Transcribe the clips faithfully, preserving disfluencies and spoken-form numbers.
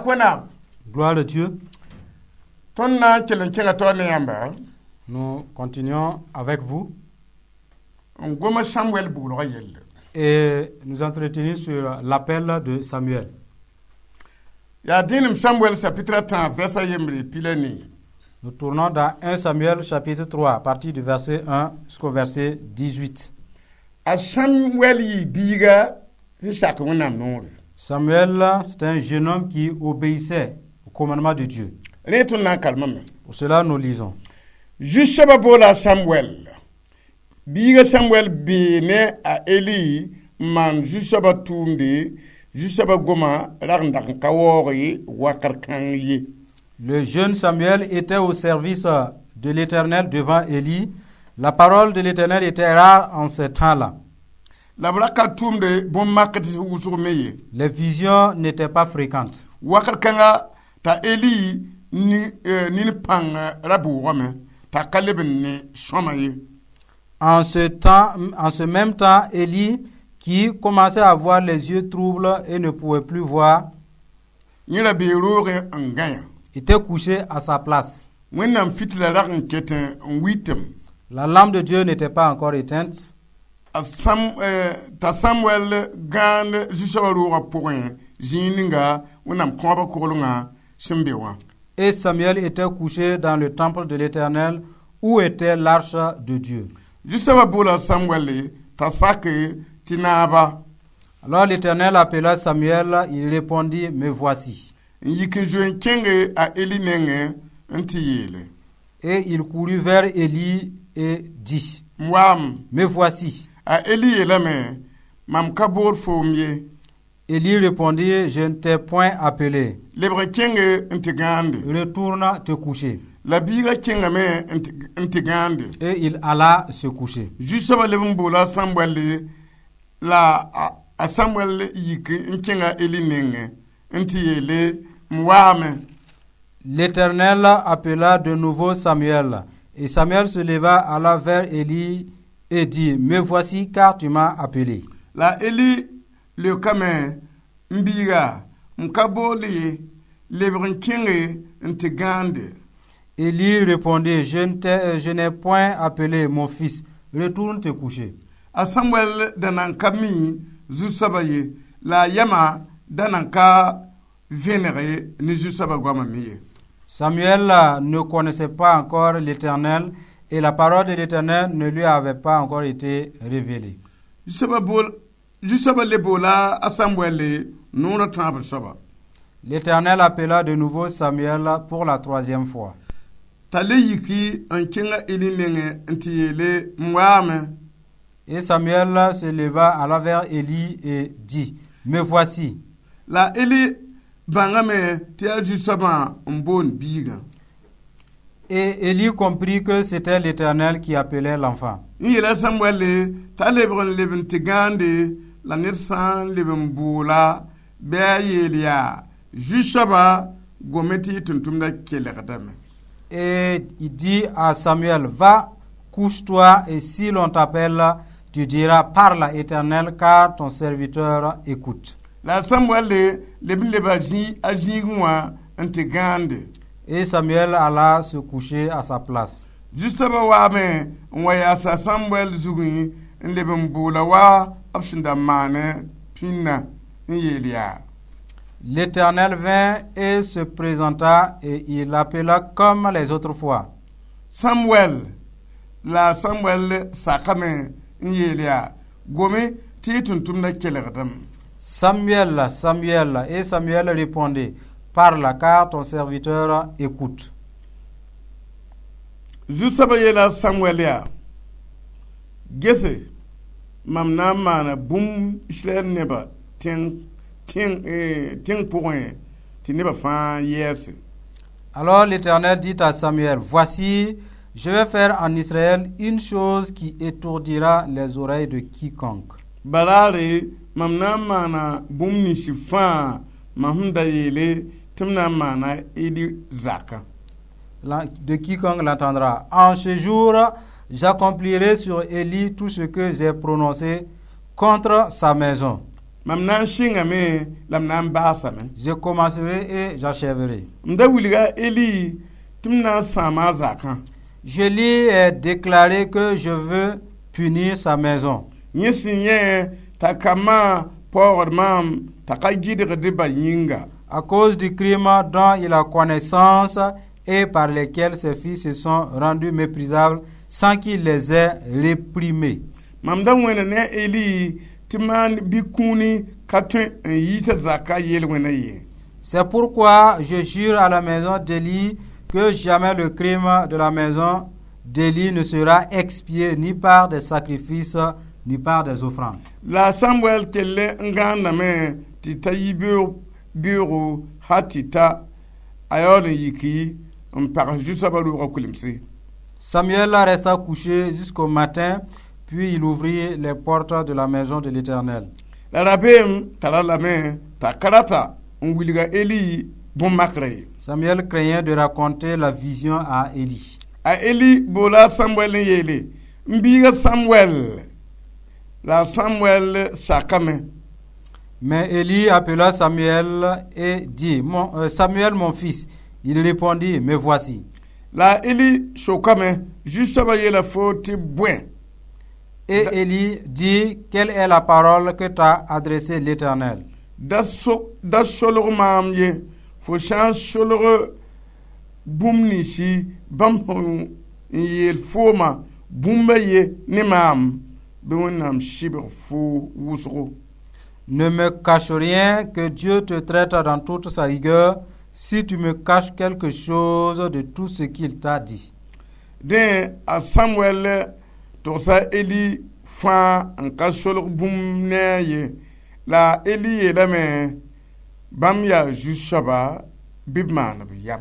Pak Wẽnnaam. Gloire à Dieu. Tõnd na n kell n kẽnga taoor ne yãmba Nous continuons avec vous n goma Samuel buglgã yelle. Et nous entretenir sur l'appel de Samuel. Yaa dẽenem Samuel chapitre a tãab vɛrsa yembre pila nii. Nous tournons dans un Samuel chapitre trois à partir du verset un jusqu'au verset dix-huit. A Samuel yɩ biiga sẽn sak Wẽnnaam noore. Samuel, c'est un jeune homme qui obéissait au commandement de Dieu. Rẽ tõnd na n kalmame. Pour cela, nous lisons. Zu-soabã boola Samuel. Biiga Samuel bee ne a Eli n maan zu-soabã tʋʋmde zu-soabã goma rag n dag n ka waoog ye wakr kãng ye. Le jeune Samuel était au service de l'Éternel devant Élie. La parole de l'Éternel était rare en ce temps-là. La b ra ka tʋʋmde bõn-makd wʋsg me ye. Les visions n'étaient pas fréquentes. Wakr kãnga t'a Eli ni eh, nin pãng ra bʋʋgame t'a ka leb n ne sõma ye. En ce temps, en ce même temps, Élie, qui commençait à avoir les yeux troubles et ne pouvait plus voir, yẽ ra bee roogẽ n gãya. Était couché à sa place. Wẽnnaam fitila rag n ket n wɩtem. La lampe de Dieu n'était pas encore éteinte. A Sam eh, t'a Samuel gãand zu-soabã roogã pʋgẽ zĩig ninga Wẽnnaam kõabã koglengã sẽn be wã. Et Samuel était couché dans le temple de l'Éternel où était l'arche de Dieu. Zu-soabã boola Samuel t'a sak tɩ naaba. Alors l'Éternel appela Samuel, il répondit, Me voici. N yik n zoe n kẽnge a Eli nengẽ n tɩ yeele. Et il courut vers Élie et dit, M waam. Me voici. A Eli yeelame mam ka boor foom ye. Élie répondit, Je ne t'ai point appelé. Lebg n kẽnge n tɩ gãande. Retourne te coucher. La biigã kẽngame n tɩ- n tɩ gãande. Et il alla se coucher. Zu-soabã leb n boola Samuel la a, a Samuel yik n kẽnga Eli nengẽ n tɩ yeele m waame. L'Éternel appela de nouveau Samuel. Et Samuel se leva, alla vers Élie et dit, Me voici, car tu m'as appelé. La Eli leokame m biiga m ka bool ye lebg n kẽnge n tɩ gãande. Élie répondit, Je ne t'ai- je n'ai point appelé, mon fils. Retourne te coucher. A Samuel da nan ka mi zu-soabã ye la a yãma da nan ka vẽneg ne zu-soabã goamã me ye. Samuel euh, ne connaissait pas encore l'Éternel et la parole de l'Éternel ne lui avait pas encore été révélée. Zu-soabã bool zu-soabã le boola a Samuel noor a tãab soaba. L'Éternel appela de nouveau Samuel pour la troisième fois. T'a le yiki n kẽnga Eli nengẽ n tɩ yeele m waame. Et Samuel se leva, alla vers Élie et dit, Me voici. La Eli bãngame tɩ yaa zu-soabã n boond biigã. Et Élie comprit que c'était l'Éternel qui appelait l'enfant. N yeela Samuel t'a lebg n leb n tɩ gãande la ned sã n leb n boola bɩ a yeel yaa zu-soabã gome tɩ y tʋm-tʋmdã kelgdame. Et il dit à Samuel, Va, couche-toi, et si l'on t'appelle, tu diras, Parle, Éternel, car ton serviteur écoute. La Samuel leb n leba zĩ a zĩigẽ wã n tɩ gãande. Et Samuel alla se coucher à sa place. Zu-soabã waame n wa yaasa Samuel zugẽ n leb n boola wa b sẽn da maane pĩnna n yeel yaa. L'Éternel vint et se présenta et il l'appela comme les autres fois. Samuel. La Samuel sakame n yeel yaa gome tɩ y tʋm-tʋmdã kelgdame. Samuel, Samuel. Et Samuel répondit, Parle, car ton serviteur écoute. Zu-soabã yeela Samuel yaa gese mam na n maana bũmb Israɛl nebã tẽng tẽng tẽng pʋgẽ tɩ nebã fãa yɛɛse. Alors l'Éternel dit à Samuel, Voici, je vais faire en Israël une chose qui étourdira les oreilles de quiconque. Balaare mam na n maana bũmb nins fãa mam sẽn da yeele tɩ m na n maana Eli zakã. La- De quiconque l'entendra. En ce jour, j'accomplirai sur Élie tout ce que j'ai prononcé contre sa maison. Mam na n sɩngame la m na n baasame. Je commencerai et j'achèverai. M da wilga Eli tɩ m na n sãama a zakã. Je lui ai déclaré que je veux punir sa maison. Yẽ sẽn yẽ t'a kambã paoogd maam t'a ka gɩdgd ba yĩnga. À cause du crime dont il a connaissance et par lesquels ses fils se sont rendus méprisables sans qu'il les ait réprimés. Mam da wẽna ne a Eli tɩ maan bɩ kũuni ka tõe n yiisa zaka yel-wẽna ye. C'est pourquoi je jure à la maison d'Élie que jamais le crime de la maison d'Élie ne sera expié ni par des sacrifices ni par des offrandes. La Samuel kell n gãandame tɩ ta yi beoogo hal tɩ ta a yaool n yiki n pag zu-soabã roogã kulemse. Samuel resta couché jusqu'au matin, puis il ouvrit les portes de la maison de l'Éternel. La rabeem tara lame t'a ka rata n wilga Eli bõn-makrã ye. Samuel craignait de raconter la vision à Éli. A Eli boola Samuel n yeele n biiga Samuel la Samuel sakame. Mais Éli appela Samuel et dit, mon, euh, Samuel mon fils. Il répondit, me voici. La Eli sokame zu-soabã yeela fo tɩ bõe. Et Éli dit, quelle est la parole que t'a adressée l'Éternel? Da so da solg maam ye fo sã n solg bũmb ninsi bãmb sẽn n yeel fooma bũmba ye ne maam bɩ Wẽnnaam sɩbg fo wʋsgo. Ne me cache rien, que Dieu te traite dans toute sa rigueur, si tu me caches quelque chose de tout ce qu'il t'a dit. Dẽ a Samuel togsa Eli fãa n ka solg bũmb ne a ye la Eli yeelame bãmb yaa zu-soaba bɩ b maan b yam.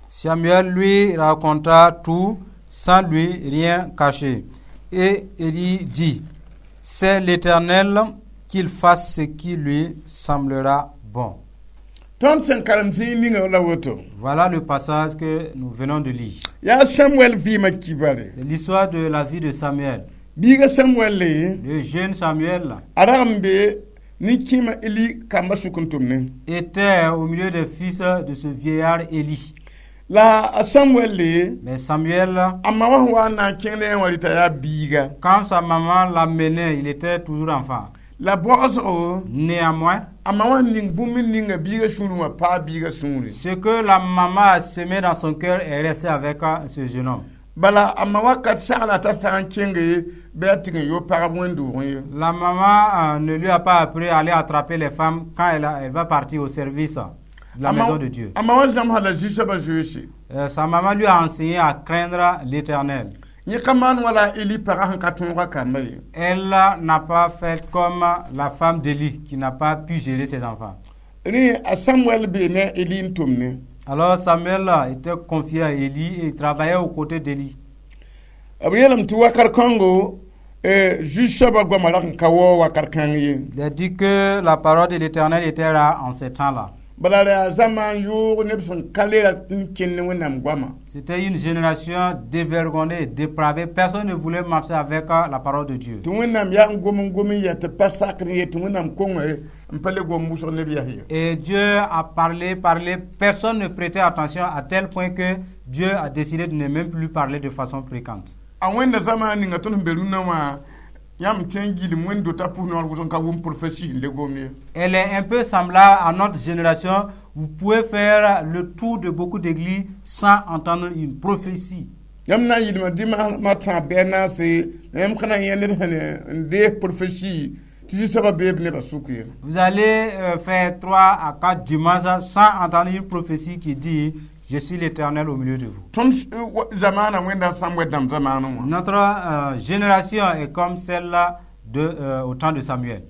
Samuel lui raconta tout sans lui rien cacher. Et Éli dit, c'est l'Éternel qu'il fasse ce qui lui semblera bon. Tõnd sẽn karem zĩig ninga la woto. Voilà le passage que nous venons de lire. Yaa Samuel vɩɩmã kibare. C'est l'histoire de la vie de Samuel. Biiga Samuel le Le jeune Samuel a rag n be nin-kẽema Eli kambã sʋk n tʋm ne. Était au milieu des fils de ce vieillard Éli. La a Samuel le Mais Samuel, a ma wã sẽn wa n na n kẽng ne wã rɩta yaa biiga. Quand sa maman l'amenait, il était toujours enfant. La baoosgo Néanmoins, a ma wã ning bũmb n ninga biiga sũurẽ wã paa biiga sũure. Ce que la maman a semé dans son cœur est resté avec euh, ce jeune homme. Bala a ma wakat sagla t'a sã n kẽnge bɩ a tɩg n yo pagb wẽnd-doogẽ ye. La maman euh, ne lui a pas appris à aller attraper les femmes quand elle, a- elle va partir au service de la A ma- maison de Dieu. A ma wã zãmsa la zu-soabã zoeese. Euh, sa maman lui a enseigné à craindre l'Éternel. Yẽ ka maan wala Eli pagã sẽn ka tõoga kamba ye. Elle n'a pas fait comme la femme d'Élie qui n'a pas pu gérer ses enfants. Rẽ a Samuel bee ne a Eli n tʋm ne. Alors Samuel était confié à Élie et il travaillait aux côtés d'Élie. B yeelame tɩ wakat kãngo zu-soabã goamã rag n ka waoog wakat kãng ye. Il a dit que la parole de l'Éternel était rare en ces temps-là. Bala ra yaa zamaan yoog neb sẽn ka le rat n kẽnd ne Wẽnnaam goama. C'était une génération dévergondée, dépravée. Personne ne voulait marcher avec euh, la parole de Dieu. Tɩ Wẽnnaam yaa n gom n gom n yaa tɩ pa sakd ye tɩ Wẽnnaam konge n pa le gom wʋsg neb yas ye. Et Dieu a parlé, parlé. Personne ne prêtait attention à tel point que Dieu a décidé de ne même plus parler de façon fréquente. A wẽnda zamaan ninga tõnd sẽn be rũnnã wã yãmb tõe n gilem wẽnd dota pʋs noor wʋsg n ka wʋm prophétie n le gom ye. Elle est un peu semblable à notre génération. Vous pouvez faire le tour de beaucoup d'églises sans entendre une prophétie. Yãmb na n yɩlma dɩ tãab bɩ a naase la yãmb ka na n yẽ ned sẽn n dees prophétie tɩ zu-soabã bee b nebã sʋk ye. Vous allez euh, faire trois à quatre dimanches sans entendre une prophétie qui dit: Je suis l'Éternel au milieu de vous. Tõnd zamaanã wẽnda Samuel dãmb zamaanẽ wã. Notre euh, génération est comme celle-là de, euh, au temps de Samuel.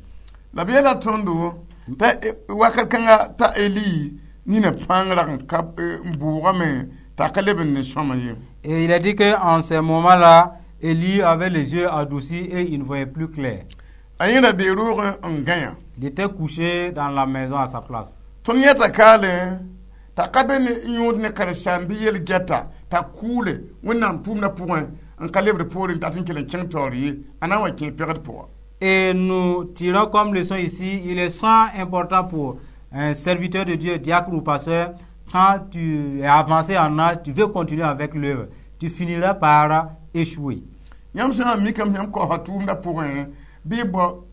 La b yeela tõndo t'a wakat kãnga t'a Eli nina pãng rag n ka n bʋʋgame t'a ka leb n ne sõma ye. Et il a dit qu'en ces moments-là, Élie avait les yeux adoucis et il ne voyait plus clair. A yẽ ra bee roogẽ n gãya. Il était couché dans la maison à sa place. Tõnd yɛta kaale t'a ka be ne yõod ne karen-saam bɩ yel gɛta t'a kʋʋle Wẽnnaam tʋʋmdã pʋgẽ n ka lebd poorẽ n dat n kell n kẽng taoor ye a na n wa kẽ pegd pʋga. Et nous tirons comme leçon ici, il est sans important pour un serviteur de Dieu, diacre ou pasteur, quand tu es avancé en âge, tu veux continuer avec l'œuvre, tu finiras par échouer. Yãmb sã n mikame yãmb kaoosa tʋʋmdã pʋgẽ bɩ y bao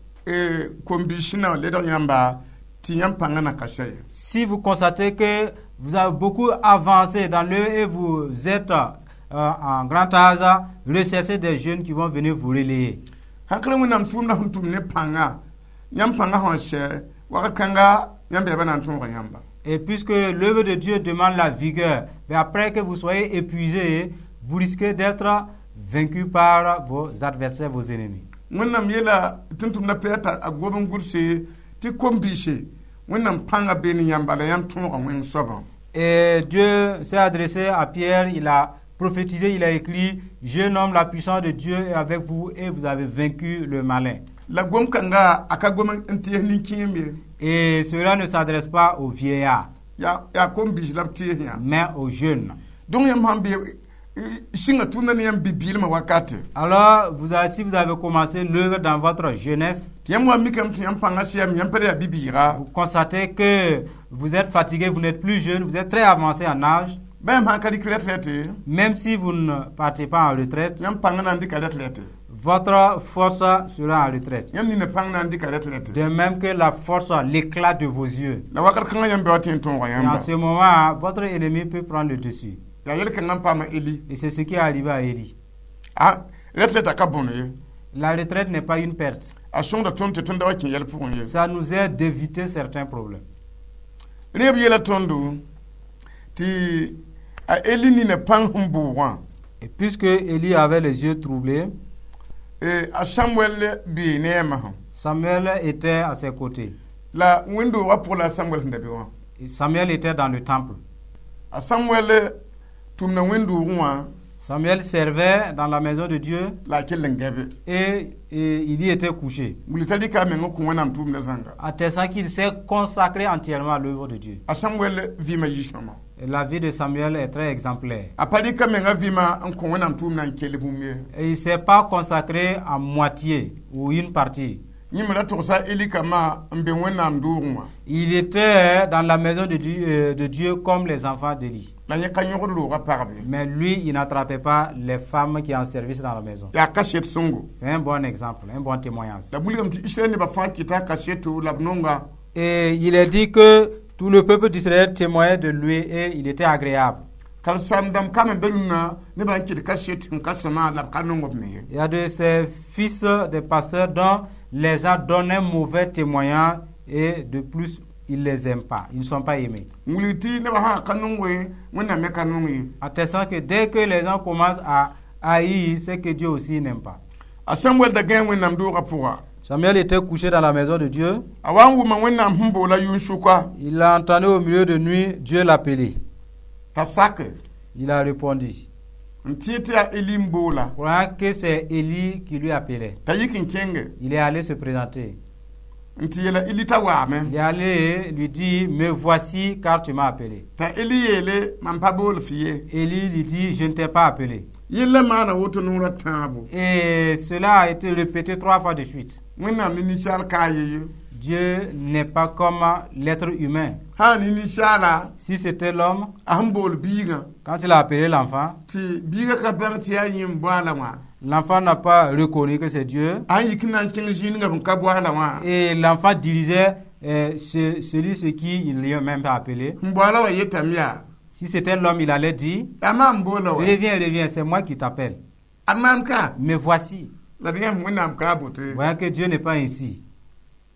kom-biis sẽn na n ledg yãmba tɩ yãmb pãngã na ka sɛ ye. Si vous constatez que vous avez beaucoup avancé dans l'œuvre et vous êtes euh, en grand âge, recherchez des jeunes qui vont venir vous relayer. Sãn ka Wẽnnaam tʋʋmdã sẽn tʋm ne pãnga, yãmb pãngã sẽn sɛ wakat kãnga, yãmb bɛɛbã na n tõoga yãmba. Et puisque l'œuvre de Dieu demande la vigueur, mais après que vous soyez épuisé, vous risquez d'être vaincu par vos adversaires, vos ennemis. Wẽnnaam yeela tʋm-tʋmdã Pɩyɛɛr t'a a gob n gʋlse tɩ kom-biise Wẽnnaam pãnga be ne yãmba la yãmb tõoga wẽng soabã. Et Dieu s'est adressé à Pierre, il a prophétisé, il a écrit: Jeune homme, la puissance de Dieu est avec vous et vous avez vaincu le malin. La gom kãnga a ka gom n tɩɩs nin-kẽem ye. Et cela ne s'adresse pas aux vieillards, yaa yaa kom-biis la b tɩɩs yã. Mais aux jeunes. Donc yãmb sãn be sɩnga tʋʋmdã ne yãmb bi-biilmã wakate, Alors, vous avez, si vous avez commencé l'œuvre dans votre jeunesse, tɩ yãmb wa mikame tɩ yãmb pãngã sɛame, yãmb pa yaa bi-bɩɩga, vous constatez que vous êtes fatigué, vous n'êtes plus jeune, vous êtes très avancé en âge, bã yãmb sãn ka dɩk retraite, même si vous ne partez pas en retraite, yãmb pãngã na n dɩka retraite. Votre force sera en retraite. Yãmb nina pãng na n dɩka retraite. De même que la force, l'éclat de vos yeux. La wakat kãngã yãmb bɩ wa tɩ n tõoga Et en yãmba. Ce moment, votre ennemi peut prendre le dessus. Yaa yel-kãngã n paama Eli. Et c'est ce qui est arrivé à Élie. A retraite a ka bõn ye. La retraite n'est pas une perte. A sõngda tõnd tɩ tõnd da wa kẽ yɛl pʋgẽ ye. Ça nous aide d'éviter certains problèmes. Rẽ b yeela tõndo tɩ a Eli nina pãng sẽn bʋʋgã, Et puisque Élie avait les yeux troublés, eh, a Samuel bee ne a masã. Samuel était à ses côtés. La wẽnd-doogã pʋgã la a Samuel sẽn da be wã. Et Samuel était dans le temple. A Samuel tʋmda wẽnd-doogẽ wã. Samuel servait dans la maison de Dieu la a kell n gãbe. et, et il y était couché. Wilg t'a rɩka a meng n kõ Wẽnnaam tʋʋmdã zãnga. Attestant qu'il s'est consacré entièrement à l'œuvre de Dieu. A Samuel vɩɩmã yi-sõma. Et la vie de Samuel est très exemplaire. A pa rɩka menga vɩɩmã n kõ Wẽnnaam tʋʋmdã n kell bũmb ye. Et il ne s'est pas consacré à moitié ou une partie. Yẽmb ra togsa Eli kambã n be Wẽnnaam doogẽ wã. Il était dans la maison de Dieu, euh, de Dieu comme les enfants d'Éli. La yẽ ka yõgd roogã pagb ye. Mais lui, il n'attrapait pas les femmes qui en service dans la maison. Yaa kaset sõngo. C'est un bon exemple, un bon témoignage. La wilgame tɩ Israɛl nebã fãa kɩta kaseto la b nonga. Et il est dit que tout le peuple d'Israël témoignait de lui et il était agréable. Karen-saam dãmb kam n be rũnnã nebã n kɩt kaset n ka sõma la b ka nong b me ye. Il y a de ces fils des pasteurs dont les gens donnent un mauvais témoignage et de plus, ils ne les aiment pas. Ils ne sont pas aimés. N wilg tɩ nebã sã ka nong ye, Wẽnnaam me ka nong ye. Attestant que dès que les gens commencent à haïr, c'est que Dieu aussi n'aime pas. A Samuel da gãe Wẽnnaam doogã pʋga. Samuel était couché dans la maison de Dieu. A wa n wʋma Wẽnnaam sẽn boola yʋn-sʋka. Il a entendu au milieu de nuit Dieu l'appeler. T'a sake. Il a répondu, n tẽ tɩ yaa Eli n boola, croyant que c'est Élie qui lui appelait. T'a yik n kẽnge. Il est allé se présenter. N tɩ yeela Eli t'a waame. Il est allé lui dire: Me voici car tu m'as appelé. T'a Eli yeele mam pa bool fɩ ye. Élie lui dit: Je ne t'ai pas appelé. Yella maana woto noorã tãabo. Et cela a été répété trois fois de suite. Wẽnnaam ne ninsaal ka ye ye. Dieu n'est pas comme l'être humain. Sã ne ninsaala, Si c'était l'homme, a sẽn bool biigã, quand il a appelé l'enfant, tɩ biigã ka bãng tɩ yaa yẽ n boala wã, l'enfant n'a pas reconnu que c'est Dieu. A sẽn yik n na n kẽng zĩig ninga b n ka boala wã, Et l'enfant dirigeait euh, ce- celui ce qui il lui a même pas appelé. N boala wa yetame yaa. Si c'était l'homme, il allait dire: yaa maam boola wa. Reviens, reviens, c'est moi qui t'appelle. Ad maam ka. Me voici. La d yãmb Wẽnnaam ka a bote. Voyant que Dieu n'est pas ainsi.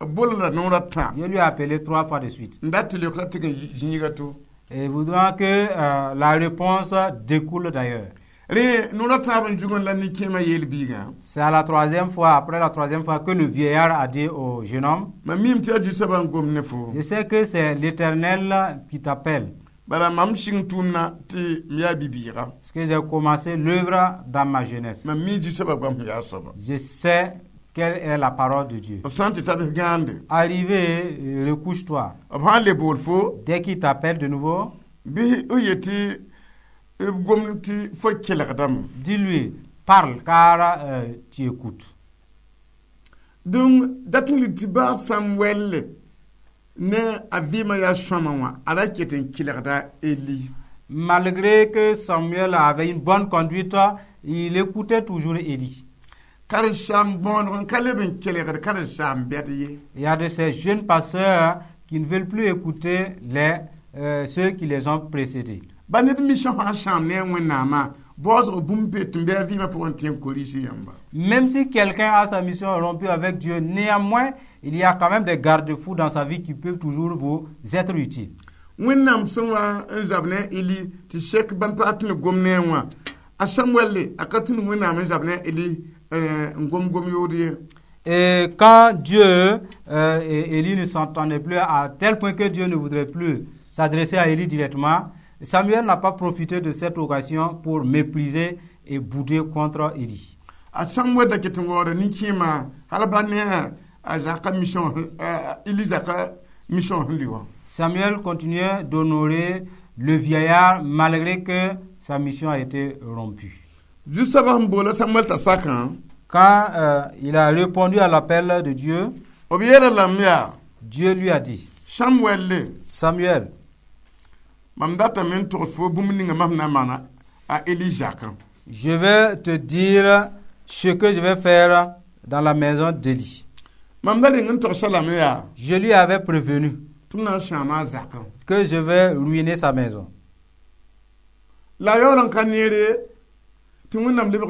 B boola la noorã tã. Dieu lui a appelé trois fois de suite. N dat tɩ leokra tɩg n zĩiga to. Et voudrant que euh, la réponse découle d'ailleurs. Rẽ noorã tãab n zugẽ la nin-kẽemã yeel biigã. C'est à la troisième fois, après la troisième fois, que le vieillard a dit au jeune homme: Mam miime tɩ yaa Zu-soabã n gom ne fo. Je sais que c'est l'Éternel qui t'appelle. Bala mam sɩng tʋʋmdã tɩ m yaa bi-bɩɩga. Parce que j'ai commencé l'œuvre dans ma jeunesse. Mam mi Zu-soabã goam sẽn yaa soaba. Je sais quelle est la parole de Dieu. B sã n tɩ ta bs gãande, Arrivé, euh, recouche-toi. B sã n le bool fo, Dès qu'il t'appelle de nouveau, bɩ b yetɩ b gomd tɩ fo kelgdame. Dis-lui: Parle car euh, tu écoutes. Donc dat n tɩ baa Samuel ne a vɩɩmã yaa sõama wã a ra ket n kelgda Eli. Malgré que Samuel avait une bonne conduite, il écoutait toujours Éli. Karen-saam bõoneg n ka leb n kelgd karen-saam bɛd ye. Il y a de ces jeunes pasteurs qui ne veulent plus écouter les, euh, ceux qui les ont précédés. Ba ned mission sã n sãam ne a Wẽnnaamã baoosg bũmb be tɩ n bɩ a vɩɩmã pʋgẽ tɩ n koris yãmba. Même si quelqu'un a sa mission rompue avec Dieu, néanmoins, il y a quand même des garde-fous dans sa vie qui peuvent toujours vous être utiles. Wẽnnaam sẽn wa n zab ne a Eli tɩ sek bãmb pag tɩ ne gom ne a wã a Samuel a ka tũnu Wẽnnaam n zab ne a Eli n gom gom yood ye. Et quand Dieu euh, et Élie ne s'entendait plus à tel point que Dieu ne voudrait plus s'adresser à Élie directement, Samuel n'a pas profité de cette occasion pour mépriser et bouder contre Élie. A Samuel da ket n waooda nin-kẽemã hal ba ne a zaka mission, Eli zaka mission sẽn lʋɩ wã. Samuel continuait d'honorer le vieillard malgré que sa mission a été rompue. Zu-soabã sẽn boola Samuel t'a sakã, Quand euh, il a répondu à l'appel de Dieu, b yeela lame yaa: Dieu lui a dit, Samuel le, Samuel, mam datame n togs fo bũmb ninga mam na n maana a Eli zakã. Je vais te dire ce que je vais faire dans la maison d'Élie. Mam da reng n togsa lame yaa Je lui avais prévenu tɩ m na n sãama a zakã. Que je vais ruiner sa maison. La a yaool n ka neere tɩ Wẽnnaam lebg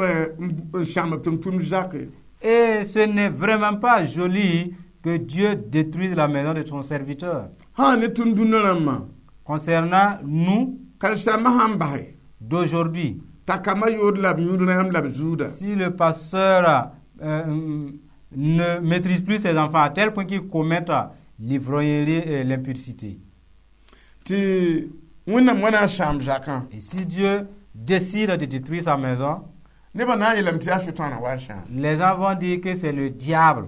n sãam b tʋm-tʋmd zake. Et ce n'est vraiment pas joli que Dieu détruise la maison de son serviteur. Sã ne tõnd dũnna rãmbã, Concernant nous karen-saambã sã n base d'aujourd'hui, t'a kambã yood la b yũud rãmb la b zuuda, si le pasteur euh, ne maîtrise plus ses enfants à tel point qu'ils commettent l'ivrognerie et l'impudicité, tɩ Wẽnnaam wa na n sãam zakã, et si Dieu décide de détruire sa maison, nebã na n yeelame tɩ yaa Sʋtãanã wa n sãam. Les gens vont dire que c'est le diable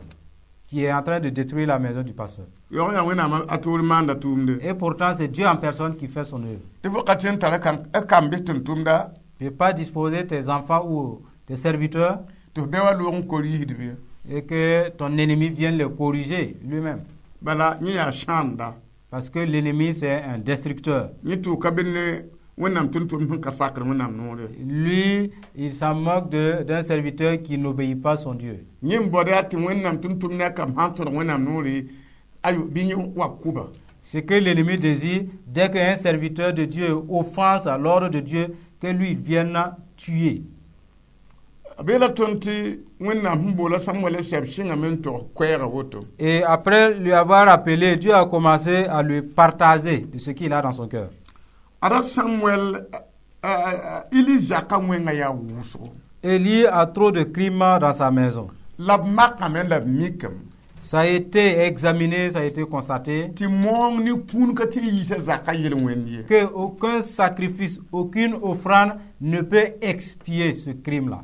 qui est en train de détruire la maison du pasteur. Yaoog yaa Wẽnnaam a toor maanda tʋʋmde. Et pourtant, c'est Dieu en personne qui fait son œuvre. Tɩ fo ka tõe n tara kam- kamb tʋm-tʋmda Tu ne peux pas disposer tes enfants ou tes serviteurs tɩ f bɩ wa loog n kor-yiisd bɩ. Et que ton ennemi vienne les corriger lui-même. Bala yẽ yaa sãamda. Parce que l'ennemi, c'est un destructeur. Yẽ tʋʋka be ne Wẽnnaam tʋm-tʋmd sẽn ka sakr Wẽnnaam noore. Lui, il s'en moque de- d'un serviteur qui n'obéit pas son Dieu. Yẽ n baood yaa tɩ Wẽnnaam tʋm-tʋmd ne a kamb sã n tõdg Wẽnnaam noore ayo bɩ yẽ wa kʋba. Ce que l'ennemi désire, dès qu'un serviteur de Dieu offense à l'ordre de Dieu, que lui il vienne tuer. B yeela tõnd tɩ Wẽnnaam sẽn boola Samuel sɛb sɩngame n tog koɛɛga woto. Et après lui avoir appelé, Dieu a commencé à lui partager de ce qu'il a dans son cœur. Ada Samuel Eli zakã wẽnga yaa wʋsgo. Élie a trop de crimes dans sa maison. La b makame la b mikame Ça a été examiné, ça a été constaté tɩ moong ne kũun ka tɩ n yiisa zakã yel-wẽnd ye. Que aucun sacrifice, aucune offrande ne peut expier ce crime-là.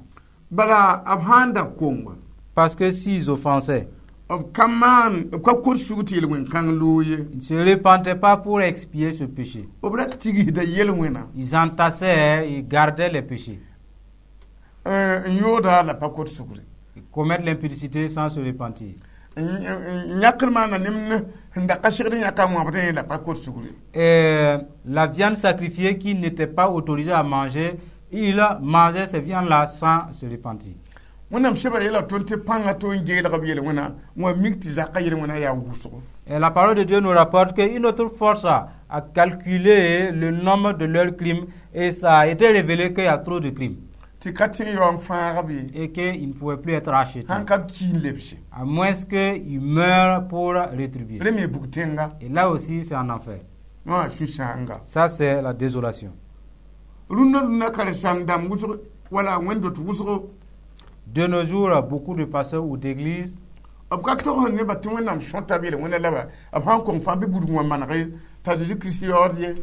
Bala b sã n da konga, Parce que s'ils offensaient, b ka maan b ka kot sug tɩ yel-wẽn-kãng loog ye. Ils ne se repentaient pas pour expier ce péché. B ra tigsda yel-wẽna. Ils entassaient, ils gardaient les péchés. N yooda la pa kot sugre. Ils commettent l'impudicité sans se repentir. N yãkr maana nemd sẽn da ka segd yãka wãbdẽ la pa kot sugre. Et la viande sacrifiée qui n'était pas autorisée à manger, il mangeait ces viandes-là sans se repentir. Wẽnnaam sɛba yeela tõnd tɩ pãnga to n geelg b yel-wẽna wã mik tɩ zakã yel-wẽna yaa wʋsgo. Et la parole de Dieu nous rapporte qu'une autre force a, a calculé le nombre de leurs crimes et ça a été révélé qu'il y a trop de crimes Tɩ ka tẽ yao n fãag b ye. Et qu'ils ne pouvaient plus être rachetés. Sãn ka b ki n lebse. À moins qu'ils meurent pour rétribuer. Rẽ me bug tẽnga. Et là aussi, c'est en enfer. Wã sũ-sãanga. Ça, c'est la désolation. Rũndã rũndã karen-saam dãmb wʋsg wala wẽnd-dot wʋsgo, De nos jours, beaucoup de pasteurs ou d'églises, b ka togsd nebã tɩ Wẽnnaam sõta b yel-wẽnda la ba b sãn kong fãa bɩ budg wã manege t'a Zeezi Kirist yaood ye.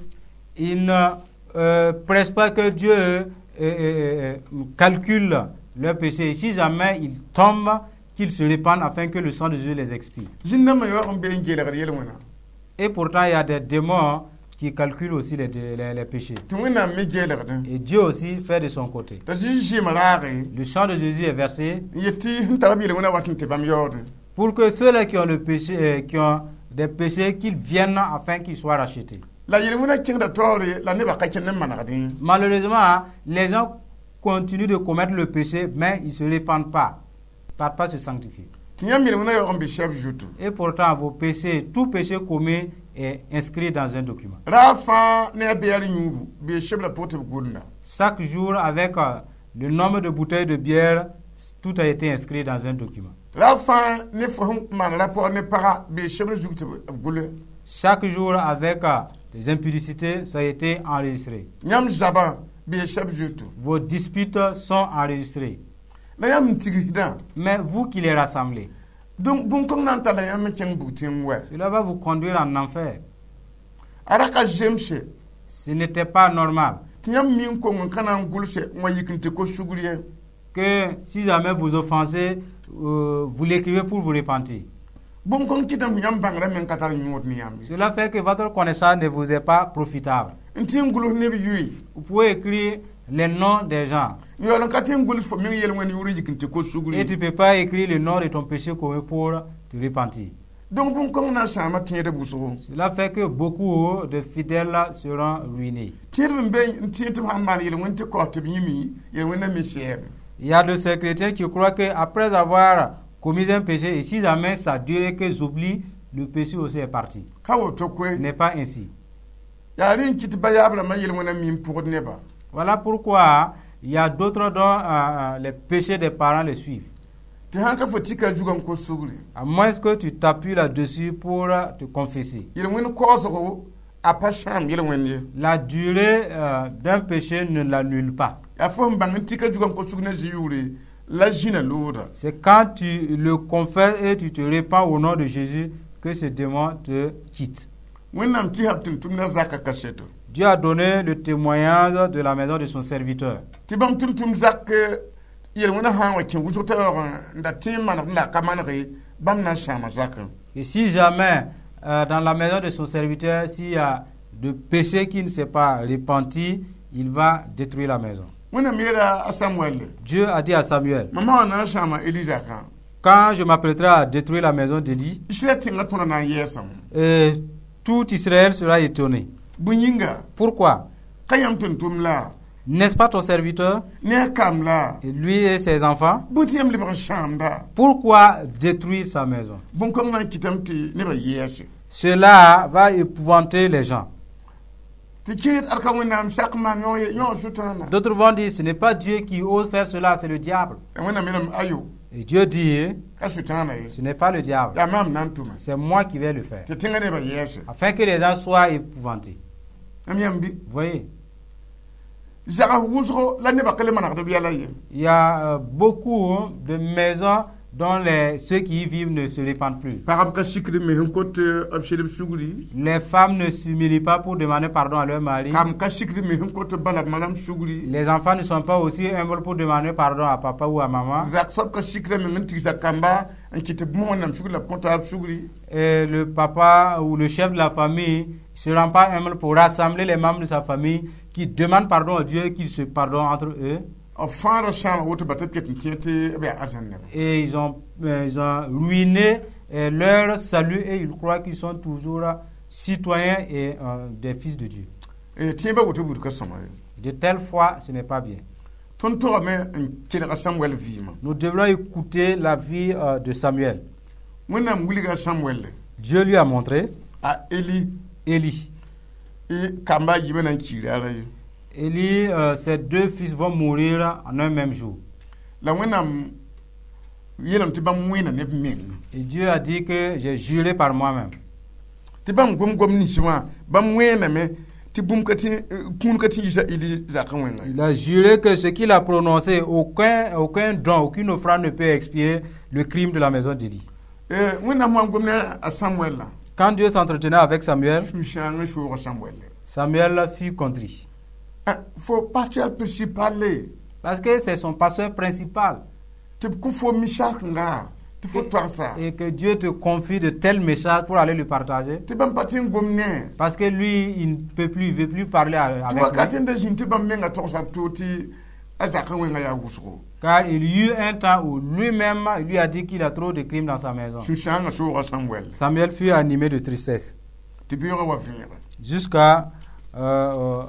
Ils ne euh, pressent pas que Dieu euh, euh, euh, calcule leurs péchés. Et si jamais ils tombent, qu'ils se répandent afin que le sang de Jésus les expie. Zĩn-dãmbã yaoog n be n geelgd yel-wẽna. Et pourtant, il y a des démons qui calculent aussi les, les- les péchés. Tɩ Wẽnnaam me geelgdẽ. Et Dieu aussi fait de son côté. T'a Zeezi zɩɩm raage Le sang de Jésus est versé n yet tɩ sẽn tara b yel-wẽnã wat n tɩ bãmb yaoodẽ. Pour que ceux-là qui ont le péché, euh, qui ont des péchés, qu'ils viennent afin qu'ils soient rachetés. La yel-wẽnã kẽngda taoore la nebã ka kẽnd n manegdẽ. Malheureusement, les gens continuent de commettre le péché, mais ils ne se répandent pas, ne partent pas se sanctifier. Tɩ yãmb yel-wẽnã yaoog n be sɛb zutu. Et pourtant, vos péchés, tout péché commis est inscrit dans un document. Raar fãa ne a beɛr yũubu bee sebla pʋg tɩ b gʋlda. Chaque jour, avec euh, le nombre de bouteilles de bière, tout a été inscrit dans un document. Raar fãa ne fo sẽn maan rapport ne paga bee sebr zug tɩ b gʋle. Chaque jour, avec euh, des impudicités, ça a été enregistré. Yãmb zabã bee sɛb zutu. Vos disputes sont enregistrées. La yãmb n tigsdã. Mais vous qui les rassemblez, donc bũn-kõng na n talla yãmb n kẽng bug tẽng wɛ. Cela va vous conduire en enfer. A ra ka zemse. Ce n'était pas normal tɩ yãmb mi n kong n ka na n gʋlse n wa yik n tɩ ko sugr ye. Que si jamais vous offensez, euh, vous l'écrivez pour vous repentir. Bũn-kõng kɩtame tɩ yãmb bãngrã meng ka tar yõod ne yãmb ye. Cela fait que votre connaissance ne vous est pas profitable. N tɩ n gʋls neb yʋɩ. Vous pouvez écrire les noms des gens. N yaool n ka tɩ n gʋls fo meng yel-wẽnd yʋʋr n yik n tɩ ko sugr Et ye. Tu ne peux pas écrire le nom de ton péché commis pour te repentir. Donc bũn-kõng na n sãama tẽedb wʋsgo. Cela fait que beaucoup de fidèles seront ruinés. Tẽedb n be n tẽ tɩ b sãn maan yel-wẽnd tɩ kaoos tɩ b yĩme yel-wẽnda me sɛɛme. Il y a de ces chrétiens qui croient qu'après avoir commis un péché, et si jamais ça dure et que j'oublie, le péché aussi est parti. Ka woto koe. Ce n'est pas ainsi. Yaa rẽ n kɩt ba yaab rãmbã yel-wẽnã mim pʋgd nebã. Voilà pourquoi il y a d'autres dont euh, euh, les péchés des parents les suivent. Tɩ sãn ka fo tika zugã n kos sugre. À moins que tu t'appuies là-dessus pour te confesser. Yel-wẽnd kaoosgo a pa sãam yel-wẽnd ye. La durée euh, d'un péché ne l'annule pas. Yaa fo sẽn bãng n tika zugã n kos sugr na zĩ yʋʋre la zĩna loodã. C'est quand tu le confesses et tu te répands au nom de Jésus que ce démon te quitte. Wẽnnaam kɩsab tʋm-tʋmdã zaka kaseto. Dieu a donné le témoignage de la maison de son serviteur. Tɩ bãmb tʋm-tʋm zak yel-wẽnã sã n wa kẽ wʋsg t'a yaoog n da tẽ n manegd la a ka manege bãmb na n sãama zakẽ. Et si jamais euh, dans la maison de son serviteur, s'il y a de péché qui ne s'est pas repenti, il va détruire la maison. Wẽnnaam yeela a Samuel. Dieu a dit à Samuel, mam wã na n sãama Eli zakã, quand je m'apprêterai à détruire la maison d'Élie, Israɛl tẽngã tõra na n yɛɛsame. euh, tout Israël sera étonné. Bõe yĩnga? Pourquoi? Ka yãmb tʋm-tʋmd la? N'est-ce pas ton serviteur? Ne a kam la? Et lui et ses enfants? Bõe tɩ yãmb lebg n sãamda? Pourquoi détruire sa maison? Bũn-kõng na n kɩtame tɩ nebã yɛɛse. Cela va épouvanter les gens. Tɩ kẽer ad ka Wẽnnaam sak maan yõ sʋtãana. D'autres vont dire, ce n'est pas Dieu qui ose faire cela, c'est le diable. Wẽnnaam yeelame ayo. Et Dieu dit, ka sʋtãana ye. Ce n'est pas le diable, yaa maam na n tʋma. C'est moi qui vais le faire. Tɩ tẽngã nebã yɛɛse. Afin que les gens soient épouvantés. Am yãmb bɩ. Vous voyez, zags wʋsgo la nebã ka le manegd b yɛla ye. Il y a euh, beaucoup, hein, de maisons dont les, ceux qui y vivent ne se répandent plus. Pagb ka sikd b mes n kot b sed b sugri. Les femmes ne s'humilient pas pour demander pardon à leur mari. Kam ka sikd b mes n kot b ba la b ma rãmb sugri. Les enfants ne sont pas aussi humbles pour demander pardon à papa ou à maman. Zak soab ka sikda meng n tigsa kamba n kɩt tɩ bũmb Wẽnnaam sugr la b kõta b sugri. Et le papa ou le chef de la famille ne se rend pas humble pour rassembler les membres de sa famille qui demandent pardon à Dieu et qu'ils se pardonnent entre eux. B fãa ra sãama woto ba tɩ b ket n tẽ tɩ b yaa arzãn neba. Et ils ont, euh, ils ont ruiné euh, leur salut et ils croient qu'ils sont toujours citoyens et euh, des fils de Dieu. Tẽebã woto buud ka sõma ye. De telle foi, ce n'est pas bien. Tõnd togame n kelga Samuel vɩɩmã. Nous devrons écouter la vie euh, de Samuel. Wẽnnaam wilga Samuel. Dieu lui a montré a Eli. Élie. Kamba a yiibã na n kiira ara ye. Élie, euh, ses deux fils vont mourir en un même jour. La Wẽnnaam yeelame tɩ bãmb wẽena ne b meng. Et Dieu a dit que j'ai juré par moi-même. Tɩ bãmb gom-gom nins wã bãmb wẽename tɩ bũmb ka tɩ kũun ka tɩ yiisa Eli zakã wẽnga. Il a juré que ce qu'il a prononcé, aucun, aucun don, aucune offrande ne peut expier le crime de la maison d'Élie. Wẽnnaam wã n gom ne a Samuel la. Quand Dieu s'entretenait avec Samuel, sũ-sãang n sooga Samuel. Samuel fut contrit. Fo pasteur principal. Parce que c'est son pasteur principal. Tɩ b kõ fo misakẽnga tɩ fo toagsa. Et que Dieu te confie de tels messages pour aller le partager. Tɩ bãmb pa tɩ n gom ne. Parce que lui, il ne peut plus, il ne veut plus parler avec tɩ wakat lui. N da zĩnd tɩ bãmb menga togsa b to tɩ a zakã wẽngã yaa wʋsgo. Car il y eut un temps où lui-même il lui a dit qu'il a trop de crimes dans sa maison. Sũ-sãangã sooga Samuel. Samuel fut animé de tristesse tɩ beoogã wa vẽege. Jusqu'à euh, euh,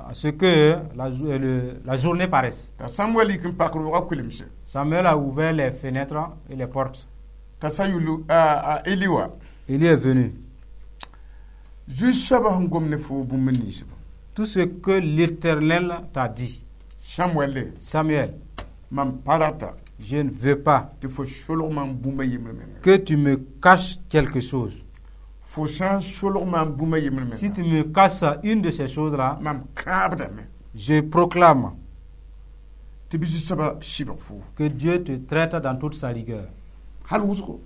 à ce que la, jo- euh, le- la journée paraisse. T'a Samuel yik n pak roogã kulemse. Samuel a ouvert les fenêtres et les portes. T'a Sayulu a a Eli wa. Élie est venu. Zu-soabã sẽn gom ne fo bũmb ninsba. Tout ce que l'Éternel t'a dit, Samuel, Samuel, mam pa rata je ne veux pas tɩ fo solg mam bũmb a yembr menga. Que tu me caches quelque chose. Fo sã n solg mam bũmb a yembr Si menga, tu me caches une de ces choses-là, mam kãabdame je proclame tɩ bɩ zu-soabã sɩbg fo. Que Dieu te traite dans toute sa rigueur. Hal wʋsgo.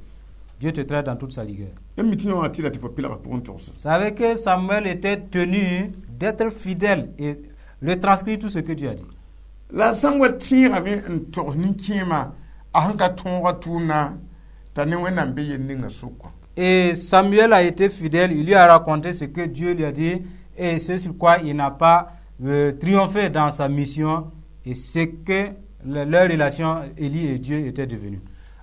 Dieu te traite dans toute sa rigueur. Yãmb mi tɩ yã wã tɩ la tɩ fo pilgã pʋgẽ togsã. Savez que Samuel était tenu d'être fidèle et retranscrire tout ce que Dieu a dit. La Samuel tẽegame n togs nin-kẽemã a sẽn ka tõoga tʋʋmdã t'a ne Wẽnnaam be yel ninga sʋkã. Et Samuel a été fidèle, il lui a raconté ce que Dieu lui a dit et ce sur quoi il n'a pas euh, triomphé dans sa mission et ce que le- leur relation, Élie et Dieu, était devenue.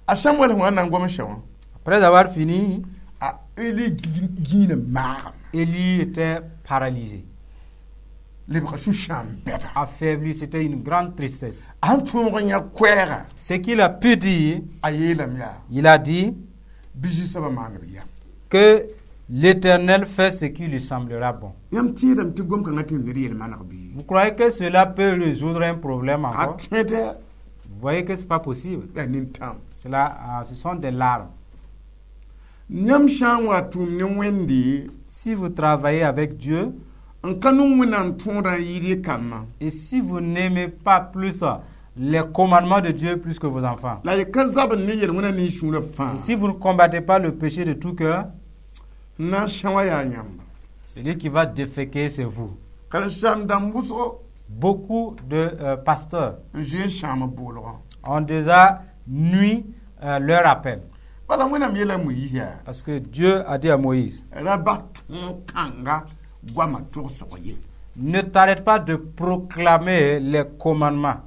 A Samuel sẽn wa n na n gom sã wã, Après avoir fini, a Eli gĩinã maagame. Élie était paralysé, Lebga sũ-sãam bɛda. Affaibli, c'était une grande tristesse. A sẽn tõog n yã koɛɛga, Ce qu'il a pu dire, a yeelame yaa il a dit bɩ zu-soabã maan b yam. Que l'Éternel fait ce qui lui semblera bon. Yãmb tẽedame tɩ gom-kãngã tɩ ned yel-maneg bɩ? Vous croyez que cela peut résoudre un problème A encore? tõe Vous voyez que ce n'est pas possible. yaa nintãm. Cela, euh, ce sont des larmes. Yãmb sã n wa tʋʋm ne Wẽnde Si vous travaillez avec Dieu n ka nong Wẽnnaam tõodã n yɩɩd y kambã, et si vous n'aimez pas plus les commandements de Dieu plus que vos enfants, la y ka zabd ne yel-wẽna ne y sũurã fãa, et si vous ne combattez pas le péché de tout cœur, n na n sã wa yaa yãmba. Celui qui va déféquer, c'est vous. Karen-saam dãmb wʋsgo Beaucoup de euh, pasteurs n zoe n sãam b boolgã. Ont déjà nui euh, leur appel. Bala Wẽnnaam yeela Moyiis yaa Parce que Dieu a dit à Moïse, ra bas tõog kãnga goamã togsg ye. Ne t'arrête pas de proclamer les commandements.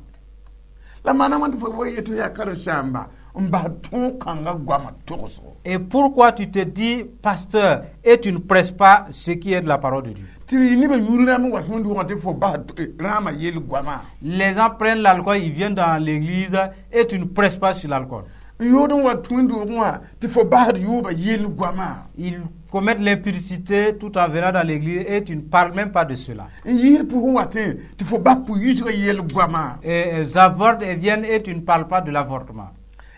La maana wãn tɩ fo wa yetɩ yaa karen-saamba n bas tõog kãnga goamã togsgo? Et pourquoi tu te dis pasteur et tu ne prêches pas ce qui est de la parole de Dieu? Tɩ nebã yũud rãmb n wat wẽnd tɩ fo bas rãamã yel goamã. Les gens prennent l'alcool, ils viennent dans l'église et tu ne prêches pas sur l'alcool. N yood n wat wẽnd-doogẽ wã tɩ fo basd yooba yel goamã. Ils commettent l'impudicité tout en venant dans l'église et tu ne parles même pas de cela. N yiisd pʋsẽ watẽ tɩ fo bas pʋ-yiisgã yel goamã. Et elles avortent et viennent et tu ne parles pas de l'avortement.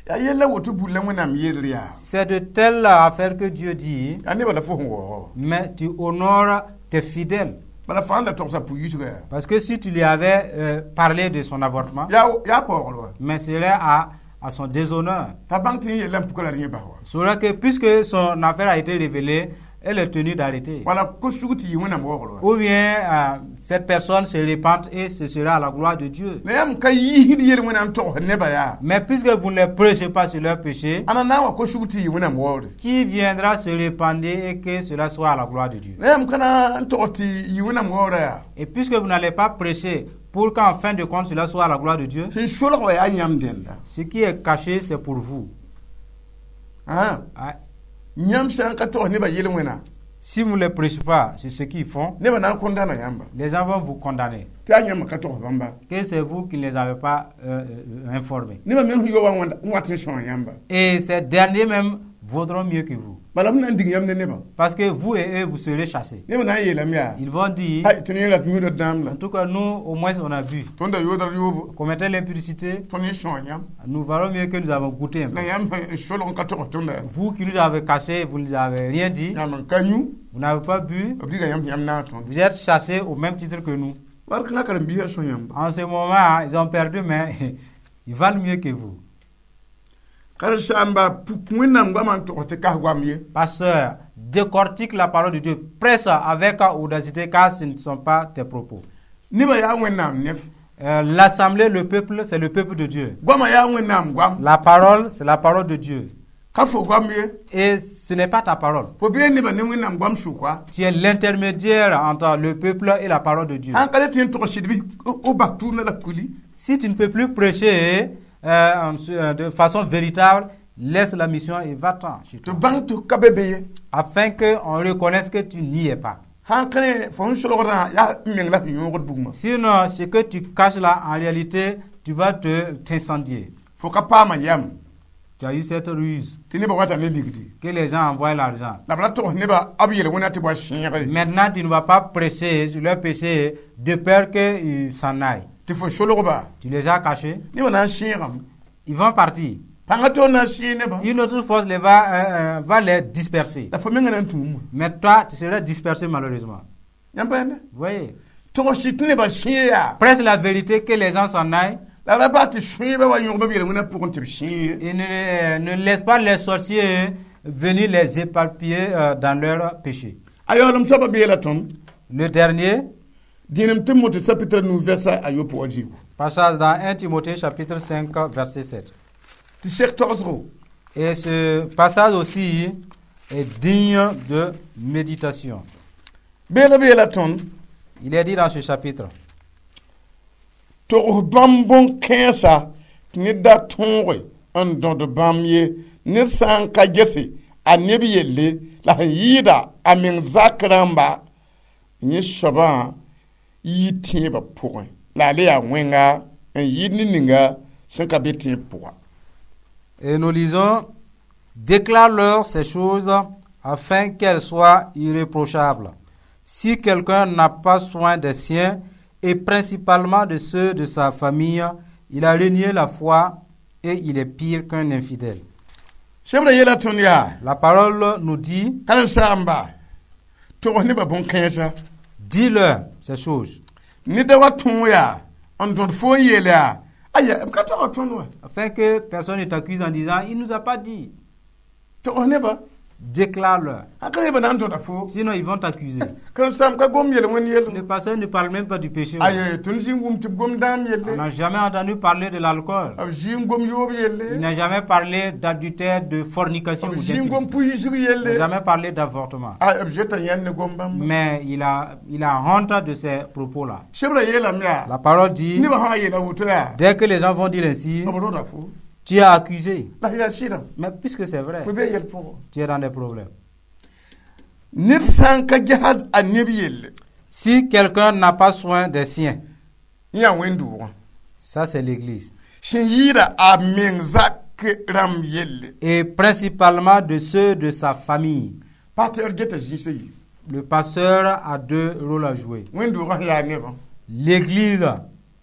Yaa yella woto buud la Wẽnnaam yelr yaa. C'est de telles affaires que Dieu dit, Yaa nebã la fo sẽn waoog. Mais tu honores tes fidèles. Bala fãa la togsa pʋ-yiisgã yaa. Parce que si tu lui avais euh, parlé de son avortement, yaa yaa paoogr wa. Mais ce serait à, à son déshonneur. T'a bãng tɩ yẽ yella n puka la rẽ bas wa. C'est vrai que puisque son affaire a été révélée, elle est tenue d'arrêter. Wala ko-sug tɩ yɩ Wẽnnaam waoogr wa. Ou bien euh, cette personne se répand et ce sera à la gloire de Dieu. La yãmb ka yiisd yel-wẽna n togs nebã yaa. Mais puisque vous ne les prêchez pas sur leur péché, Ãnna na n wa ko-sug tɩ yɩ Wẽnnaam waoogre? Qui viendra se répandre et que cela soit à la gloire de Dieu? La yãmb ka na n tog tɩ yɩ Wẽnnaam waoogrã yaa. Et puisque vous n'allez pas prêcher pour qu'en fin de compte cela soit à la gloire de Dieu, Sẽn solg wa yaa yãmb dẽnda. Ce qui est caché, c'est pour vous. Ã. Ah, Yãmb sã n ka togs nebã yel-wẽna, si vous ne les prêchez pas sur ce qu'ils font, nebã na n condamna yãmba. Les gens vont vous condamner. Tɩ yaa yãmb ka togs bãmba. Que c'est vous qui ne les avez pas euh, euh, informés. Nebã me sẽn yo wa n wat n sõa yãmba. Et ces derniers même vaudront mieux que vous. Bala b na n dig yãmb ne nebã. Parce que vous et eux, vous serez chassés. Nebã na n yeelame yaa Ils vont dire, hay tɩ ne rat yũuda dãam la. En tout cas, nous, au moins, on a bu. Tõnd da yooda yoobo. On commettait l'impudicité, Tõnd yẽ sõa yãmb. Nous valons mieux que nous avons goûté un peu. La yãmb n solg n ka togs tõnda. Vous qui nous avez cachés, vous ne nous avez rien dit, Yãmb n ka yũ. Vous n'avez pas bu, B diga yãmb yãmb naag tõnd. Vous êtes chassés au même titre que nous. Bark kãngã karen-biisã sõa yãmba. En ce moment, ils ont perdu, mais ils valent mieux que vous. Karen-saamba puk Wẽnnaam goamã n tog tɩ kas goam ye. Pasteur, décortique la parole de Dieu. Prêche avec audacité, car ce ne sont pas tes propos. Nebã yaa Wẽnnaam neb. Euh, L'assemblée, le peuple, c'est le peuple de Dieu. Goamã yaa Wẽnnaam goam. La parole, c'est la parole de Dieu. Ka fo goam ye. Et ce n'est pas ta parole. Fo bee nebã ne Wẽnnaam goam sʋka. Tu es l'intermédiaire entre le peuple et la parole de Dieu. Sãn ka le tɩ n tog sɩd bɩ o bas tʋʋmdã la kuli. Si tu ne peux plus prêcher euh, en- euh, de façon véritable, laisse la mission et va-t'en chez tɩ toi. bãng tɩ ka be be ye. Afin qu'on reconnaisse que tu n'y es pas. Sãn kẽ fo sẽn solgdã yaa m meng la sẽn yõogd bugmã. Sinon, ce que tu caches là, en réalité, tu vas te t'incendier. Fo ka paama yam. Tu as eu cette ruse Tɩ nebã wata ne ligdi. Que les gens envoient l'argent. La b ra togs nebã b yel-wẽna tɩ b wa sẽege. Maintenant, tu ne vas pas prêcher sur leur péché de peur qu'ils s'en aillent. Tɩ fo solgba. Tu les as cachés. Nebã na n sẽegame. Ils vont partir. Pãngã toor na n sẽeg nebã. Une autre force les va, euh, euh, va les disperser. La fo menga na n tũum. Mais toi, tu seras dispersé malheureusement. Yãmb pa yẽnda. Vous voyez? Togs tɩ nebã sẽeg yaa. Prêche la vérité, que les gens s'en aillent. La ra bas tɩ sõeebã wa yõgb b yel-wẽnã pʋgẽ tɩ b sẽeg ye. Et ne, euh, ne laisse pas les sorciers venir les éparpiller euh, dans leur péché. A yaoolem soabã beela tõnd. Le dernier Dĩnem Timote chapitre nu verset a yopoe wa zĩigu. Passage dans un Timothée chapitre cinq verset sept. Tɩ sek togsgo. Et ce passage aussi est digne de méditation. Beela beela tõnd. Il est dit dans ce chapitre, Togs bãmb bõn-kãensã tɩ ned da tõoge n dõd bãmb ye ned sã n ka gese a neb yelle la sẽn yɩɩda a meng zak rãmba yẽ soabã yɩ tẽebã pʋgẽ la a le yaa wẽnga n yɩɩd ne ninga sẽn ka be tẽeb pʋga. Et nous lisons: Déclare-leur ces choses afin qu'elles soient irréprochables. Si quelqu'un n'a pas soin des siens, et principalement de ceux de sa famille, il a renié la foi et il est pire qu'un infidèle. Sebrã yeela tõnd yaa. La parole nous dit, karen-saamba togs nebã bõn-kãensã. Dis-leur ces choses, Ned da wa tõog yaa n dõd fo n yeel yaa aya b ka tog tõnd wa. Afin que personne ne t'accuse en disant, il ne nous a pas dit. Togs nebã. Déclare-leur. Sã ka nebã na n tõda fo. Sinon, ils vont t'accuser. Karen-saam ka gom yel-wẽnd yell. Le pasteur ne parle même pas du péché. Aye tõnd zĩ n wʋm tɩ b gom dãam On yelle. N'a jamais entendu parler de l'alcool. B zĩ n gom yoob Il yelle. N'a jamais parlé d'adultère, de fornication B ou zĩ n gom d'impudicité. pʋ-yisg Il n'a yelle. jamais parlé d'avortement. A b zoeta yãnd ne gom bãmba. Mais il a, il a honte de ces propos-là. Sebrã yeelame yaa. La parole dit, Nebã sã n yeela woto yaa. Dès que les gens vont dire ainsi, B rõda fo. Tu es accusé. La yaa sɩdã. Mais puisque c'est vrai, Fo be yɛl pʋgẽ. Tu es dans des problèmes. Ned sã n ka ges a neb yelle. Si quelqu'un n'a pas soin des siens, Yã wẽn-doogã. Ça c'est l'église. Sẽn yɩɩda a meng zak rãmb yelle. Et principalement de ceux de sa famille. Pasteur geta zĩisã yi. Le pasteur a deux rôles à jouer. Wẽn-doogã sẽn yaa nebã. L'église,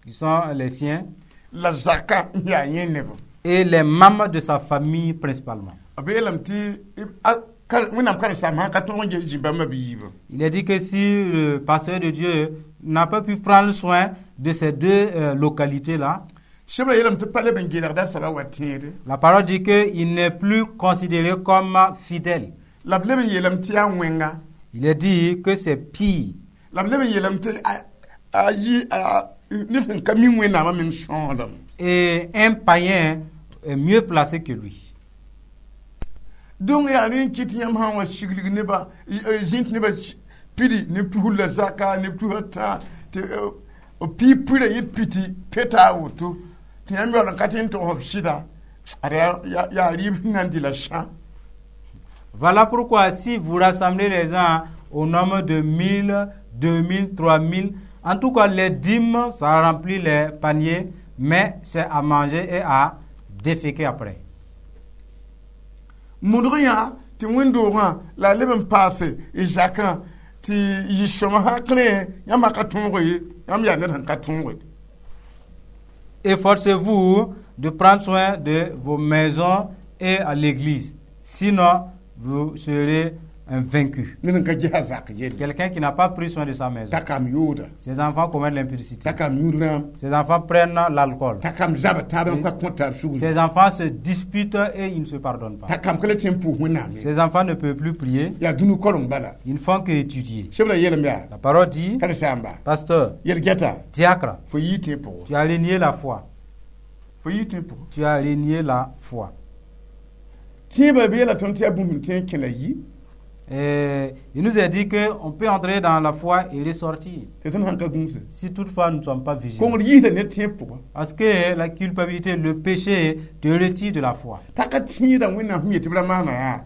qui sont les siens, La zakã n yaa yẽ nebã. Et les membres de sa famille principalement. B yeelame tɩ a- kar- wẽnnaam karen-saam sã n ka tõog n ges zĩ-bãmbã bɩ yiibã. Il est dit que si le pasteur de Dieu n'a pas pu prendre soin de ces deux euh, localités-là, Sebrã yeelame tɩ pa leb n geelgda soabã wa tẽede. La parole dit qu'il n'est plus considéré comme fidèle. La b leb n yeelame tɩ yaa wẽnga. Il est dit que c'est pire. La b leb n yeelame tɩ a- a yɩ a- ned sẽn ka mi wẽnnaamã meng sõodame. Et un païen est mieux placé que lui. Donc yaa rẽ n kɩt yãmb sã n wa sigl nebã zĩnt nebã pidi neb tusr la zaka neb tusra tã tɩ b piig pʋɩra yẽ piti peta a woto tɩ yãmb yaool n ka tɩ n togs b sɩda ad yaa yaa rɩɩb sẽn na n dɩ la sã. Voilà pourquoi si vous rassemblez les gens au nombre de mille, deux mille, trois mille, en tout cas les dîmes, ça remplit les paniers, mais c'est à manger et à déféquer après. Modg yã tɩ wẽn-doogã la a leb n paase y zakã tɩ yɩ sõma sã kẽ yãmb ka tõoge ye yãmb yaa ned sẽn ka tõoge. Efforcez-vous de prendre soin de vos maisons et à l'église. Sinon, vous serez un vaincu. Ned n ka gesa zak yelle. Quelqu'un qui n'a pas pris soin de sa maison. T'a kam yooda. Ses enfants commettent l'impudicité. T'a kam yũud rãam. Ses enfants prennent l'alcool. T'a kam zaba taab n ka kõ taab sugri. Ses enfants se disputent et ils ne se pardonnent pas. T'a kam ka le tẽ n pʋʋs wẽnnaam ye. Ses enfants ne peuvent plus prier. Yaa dũni koreng bala. Ils ne font que étudier. Sebrã yeelame yaa. La parole dit, karen-saamba. Pasteur, yel-gɛta. Diacre, fo yii tẽeb pʋgẽ. Tu as renié la foi. Fo yii tẽeb pʋgẽ. Tu as renié la foi. Tẽebã beela tõnd tɩ yaa bũmb sẽn tõe n kẽ la yi. Et il nous a dit qu'on peut entrer dans la foi et ressortir. Tɩ tõnd sãn ka gũuse. Si toutefois nous ne sommes pas vigilants. Kongr yiisda ned tẽeb pʋga. Parce que la culpabilité, le péché te retire de la foi. T'a ka tẽeda Wẽnnaam sẽn yet tɩ b ra maana yaa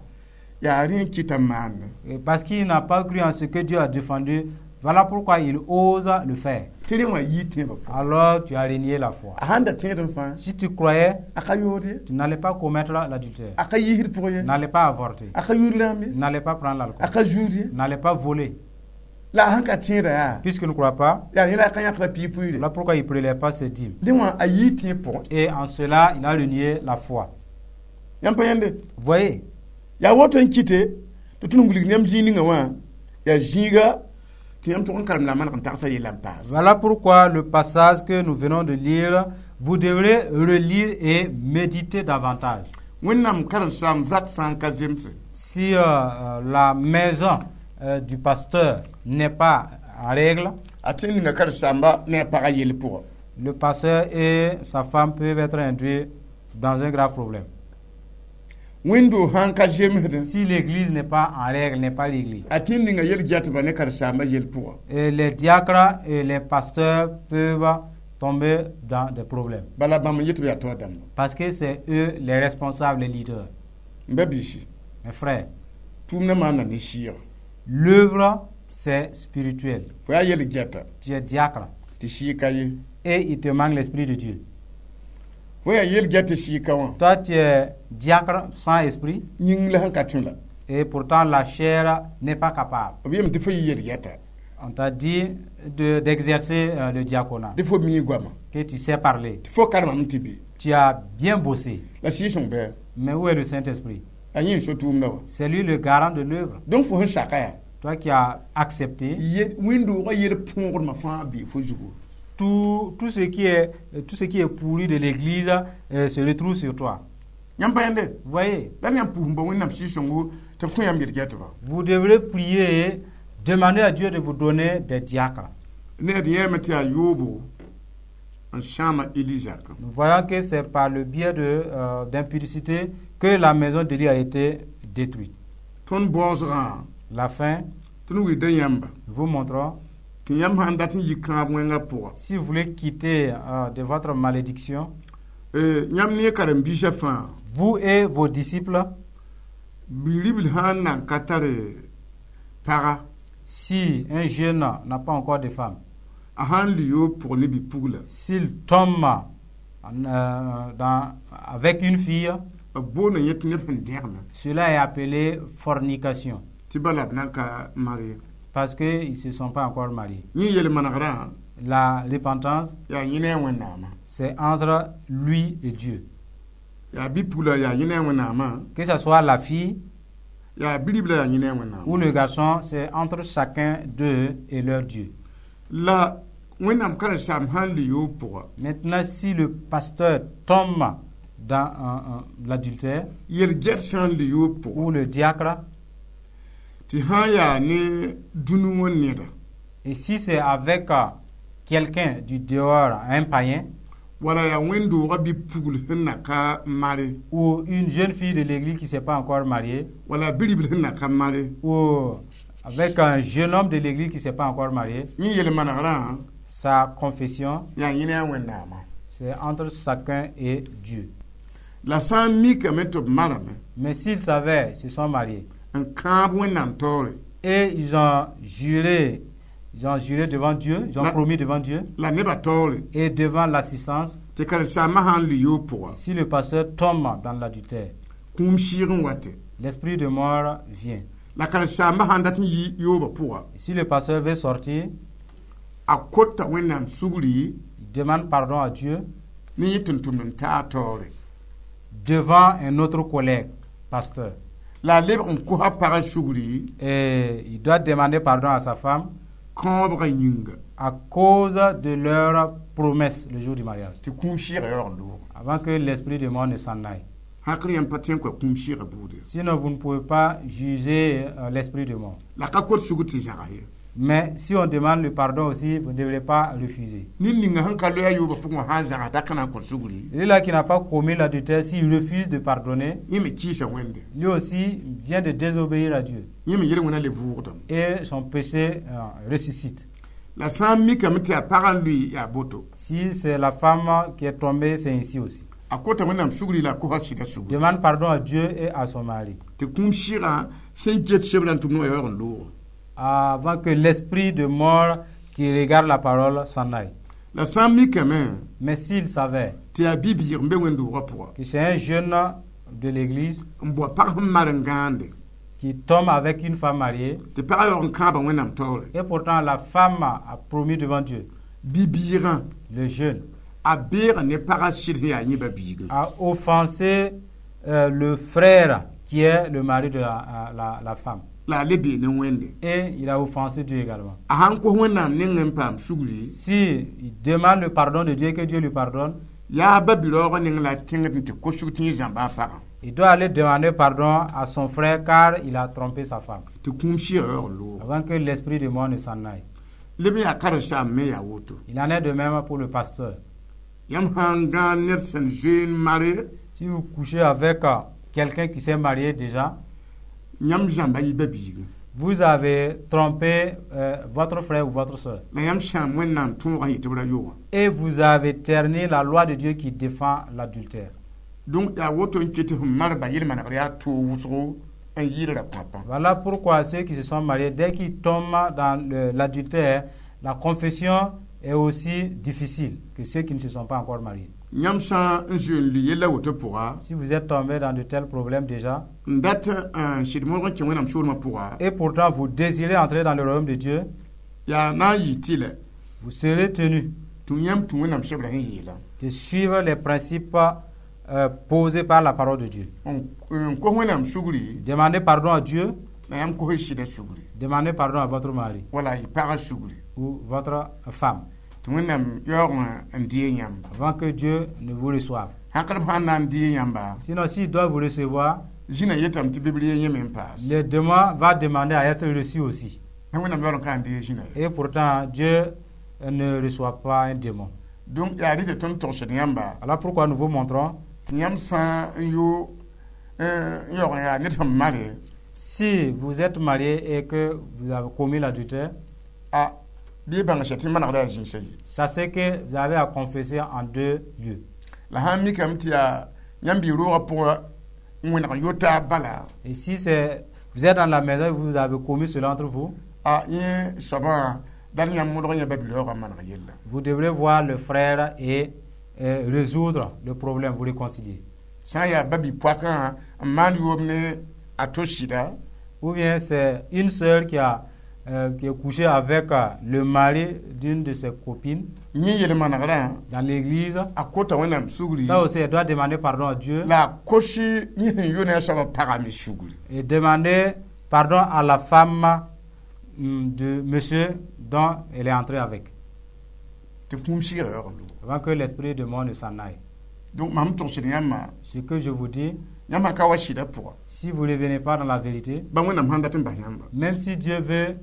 yaa rẽ n kɩta n maande. Et parce qu'il n'a pas cru en ce que Dieu a défendu, voilà pourquoi il ose le faire. Tɩ rẽ wã yii tẽebã pʋga. Alors tu as renié la foi. A sãn da tẽedẽ fãa, Si tu croyais, a ka yood ye. Tu n'allais pas commettre l'adultère. A ka yiisd pʋgẽ ye. N'allais pas avorter. A ka yud rãmb ye. N'allais pas prendre l'alcool. A ka zuud ye. N'allais pas voler. La a sãn ka tẽeda yaa, Puisqu'il ne croit pas, yaa yẽla a ka yãkda piig pʋɩɩre. Voilà pourquoi il ne prélève pas ses dîmes. Dẽ wã a yii tẽeb pʋgẽ. Et en cela, il a renié la foi. Yãmb pa yãnde? Vous voyez? Yaa woto n kɩte tɩ tõnd n wilg yãmb zĩig ninga wã yaa zĩiga tɩ yãmb tʋg n karem la a maneg n tagsã yella n paas. Voilà pourquoi le passage que nous venons de lire, vous devrez relire et méditer davantage. Wẽnnaam karen-saam zak sã n ka zemse, Si euh, euh, la maison euh, du pasteur n'est pas en règle, a tɩ ninga karen-saamba ne a pagã yell pʋgã. Le pasteur et sa femme peuvent être induits dans un grave problème. Wẽndo sãn ka zemsdẽ, Si l'église n'est pas en règle, n'est pas réglée, a tɩ ninga yel-gɛtba ne karen-saambã yell pʋgã. Et les diacres et les pasteurs peuvent tomber dans des problèmes. Bala bãmb n yet b yaa taoor dãmba. Parce que c'est eux les responsables, les leaders. M ba-biisi, Mes frères, tʋʋmdã maanda ne sɩɩga. L'œuvre, c'est spirituel. Fo yaa yel-gɛta Tu es diacre tɩ sɩɩg ka ye. Et il te manque l'esprit de Dieu. Fo yaa yel-gɛt tɩ sɩɩg ka wã. Toi, tu es diacre sans esprit Yĩng la sẽn ka tõe la. Et pourtant la chair n'est pas capable. B yeelame tɩ fo yɩ yel-gɛta. On t'a dit de- d'exercer euh, le diaconat, Tɩ fo mii goama. Que tu sais parler. Tɩ fo karemame tɩ bɩ. Tu as bien bossé. La Sɩɩg-sõng bɩ? Mais où est le Saint-Esprit? A yẽ n so tʋʋmdã wã. C'est lui le garant de l'œuvre. Donc fo sẽn saka yaa, Toi qui as accepté, wẽnd-doogã yel põogdmã fãa bee fo zugu. tout, tout, ce qui est, tout ce qui est pourri de l'église euh, se retrouve sur toi. Yãmb pa yãnde? Vous voyez? La yãmb pʋʋs n bao Wẽnnaam Sɩɩg-sõngo tɩ b kõ yãmb yel-gɛtba. Vous devrez prier, demander à Dieu de vous donner des diacres. Ne d yɛɛme tɩ yaa yoobo n sãama Eli zakã. Nous voyons que c'est par le biais de, euh, d'impudicité que la maison d'Élie a été détruite. Tõnd baoosgã, La fin, tõnd wilgda yãmba nous vous montrons, tɩ yãmb sãn dat n yi kãab wẽngã pʋga, si vous voulez quitter euh, de votre malédiction, yãmb ne karen-biisã fãa, vous et vos disciples, bi-ribl sãn nan ka tare paga, si un jeune n'a pas encore de femme, a sãn li yoob pʋg ne bi-pugla, s'il tombe euh, dans, avec une fille, b boonda yẽ tɩ neb sẽn dẽgme. Cela est appelé fornication. Tɩ bala b nan ka marie. Parce qu'ils ne se sont pas encore mariés. Yẽ yel-manegrã, La repentance, yaa yẽ ne a Wẽnnaamã. C'est entre lui et Dieu. Yaa bi-pugla yaa yẽ ne a Wẽnnaamã. Que ce soit la fille Yaa bi-ribla yaa yẽ ne a Wẽnnaamã. Ou le garçon, c'est entre chacun d'eux et leur Dieu. La Wẽnnaam karen-saam sãn li yoob pʋga, Maintenant, si le pasteur tombe dans un- un- l'adultère yel-gɛt sãn li yoob pʋga, ou le diacre, tɩ sã n yaa ne dũni wã neda, et si c'est avec euh, quelqu'un du dehors, un païen, wala yaa wẽn-doogã bi-pugl sẽn na ka mare, ou une jeune fille de l'église qui ne s'est pas encore mariée, wala bi-ribl sẽn na ka mare, ou avec un jeune homme de l'église qui ne s'est pas encore marié, yẽ yel-manegrã, sa confession, yaa yẽ ne a Wẽnnaamã. C'est entre chacun et Dieu. La sã n mikame tɩ b marame Mais s'ils savaient, ils se sont mariés. N kãab Wẽnnaam taoore, Et ils ont juré, ils ont juré devant Dieu, ils ont La- promis devant Dieu la nebã taoore, et devant l'assistance, tɩ karen-saambã sãn n li yoob pʋga, si le pasteur tombe dans l'adultère, kũum sɩɩg n wate. L'esprit de mort vient. La karen-saambã sãn dat n yi yoobã pʋga, Et si le pasteur veut sortir, a kota Wẽnnaam sugri il demande pardon à Dieu ne yẽ tʋm-tʋmd n taa taoore. Devant un autre collègue, pasteur. La a lebg n kosa pagã sugri Et il doit demander pardon à sa femme kãobgã yĩnga à cause de leur promesse le jour du mariage, tɩ kũum sɩɩgã yaoog n loog. Avant que l'esprit de mort ne s'en aille. Hakl yãmb pa tõe n kõ kũum sɩɩgã buude. Sinon, vous ne pouvez pas juger euh, l'esprit de mort. La ka kot sugr tɩ zãgs ye. Mais si on demande le pardon aussi, vous ne devrez pas refuser. Ned ninga sẽn ka loe a yoobã pʋgẽ wã sã n zagsa t'a ka na n kõ sugri, Celui-là qui n'a pas commis l'adultère, s'il refuse de pardonner, yẽ me kɩɩsa Wẽnde. Lui aussi vient de désobéir à Dieu. Yẽ me yel-wẽna le vʋʋgdame. Et son péché euh, ressuscite. La sã n mikame tɩ yaa pagã n lʋɩ yaa boto. Si c'est la femme qui est tombée, c'est ainsi aussi. A kota Wẽnnaam sugri la a kosa sɩda sugri. Demande pardon à Dieu et à son mari. Tɩ kũum sɩgã sẽn get sebrã n tʋm ne wã yaoog n loog. Avant que l'esprit de mort qui regarde la parole s'en aille. La sã n mikame Mais s'il savait tɩ yaa bi-biig n be wẽnd-doogã pʋga que c'est un jeune de l'église n bao pag sẽn mar n gãande qui tombe avec une femme mariée, tɩ pagã yaoog n kãaba Wẽnnaam taoore, et pourtant la femme a promis devant Dieu, bi-biigã le jeune a beega ne pagã sɩd sẽn yaa yẽ ba-biigã. A offensé euh, le frère qui est le mari de la, la, la femme. La a le bee ne Wẽnde. Et il a offensé Dieu également. A sãn kos Wẽnnaam nengẽ n paam sugri, Si il demande le pardon de Dieu et que Dieu lui pardonne, yaa ba-bi-raoogã neng la a tẽngd n tɩ kosg tɩ yẽ zãmba a pagã. Il doit aller demander pardon à son frère car il a trompé sa femme. Tɩ kũum sɩɩgã yaoog n loog. Avant que l'esprit de mort ne s'en aille. Leb n yaa karen-saam me yaa woto. Il en est de même pour le pasteur. Yãmb sã n gãag ned sẽn zoe n mare, Si vous couchez avec euh, quelqu'un qui s'est marié déjà, yãmb zãmba yɩ ba-biigã. Vous avez trompé euh, votre frère ou votre soeur. La yãmb sãam Wẽnnaam tõogã yetɩ b ra yoogã. Et vous avez terni la loi de Dieu qui défend l'adultère. Donc yaa woto n ket tɩ sẽn marba yel-manegr yaa toog wʋsgo n yɩɩd ra pãpã. Voilà pourquoi ceux qui se sont mariés, dès qu'ils tombent dans le- l'adultère, la confession est aussi difficile que ceux qui ne se sont pas encore mariés. Yãmb sã n zoe n lʋɩ yella woto pʋga, Si vous êtes tombé dans de tels problèmes déjà, n dat n sɩd modg n kẽ Wẽnnaam soolmã pʋga, et pourtant vous désirez entrer dans le royaume de Dieu, yaa na n yɩ tɩlɛ vous serez tenu tɩ yãmb tũ Wẽnnaam sebrã sẽn yeelã de suivre les principes euh, posés par la parole de Dieu. n n kos Wẽnnaam sugri, Demandez pardon à Dieu, la yãmb kos y sɩdã sugri, demandez pardon à votre mari wala y pagã sugri, ou votre femme, tɩ Wẽnnaam yaoog n dee yãmba. Avant que Dieu ne vous reçoive. Sãn sã n na n dee yãmba, Sinon, s'il doit vous recevoir, zĩna yetame tɩ biblia yẽ me n paas. Le démon va demander à être reçu aussi. Sã Wẽnnaam yaool n ka n dee zĩna ye. Et pourtant, Dieu ne reçoit pas un démon. Donc yaa rɩ tɩ tõnd togsd yãmba Voilà pourquoi nous vous montrons, tɩ yãmb sã n yo n yaoog n yaa ned sẽn mare, si vous êtes marié et que vous avez commis l'adultère, a bɩ y bãng sã tɩ manegda yaa zĩnsa ye. Sachez que vous avez à confesser en deux lieux. La sã n mikame tɩ yaa yãmb bɩ roogã pʋgã n wẽneg n yo taab bala, Et si c'est, vous êtes dans la maison et vous avez commis cela entre vous, a yẽ soabã dal yãmb modg yã ba-bi-raoogã n maneg yella. Vous devrez voir le frère et euh, résoudre le problème, vous réconcilier. Sã n yaa ba-bi-poakã n maan yoob ne a to sɩda, Ou bien c'est une sœur qui, a, euh, qui est couchée avec euh, le mari d'une de ses copines yẽ yel-manegrã, dans l'église. A kota Wẽnnaam sugri, Ça aussi, elle doit demander pardon à Dieu la a kos yẽ sẽn yo ne a soabã pagã me sugri. Et demander pardon à la femme hum, de monsieur dont elle est entrée avec, Tɩ kũum sɩɩgã yaoog n loog. Avant que l'esprit de mort ne s'en aille. Donc mam togsd yãmbã, Ce que je vous dis, yãmb sã ka wa sɩdã pʋga, si vous ne revenez pas dans la vérité, ba Wẽnnaam sãn dat n bas yãmba, même si Dieu veut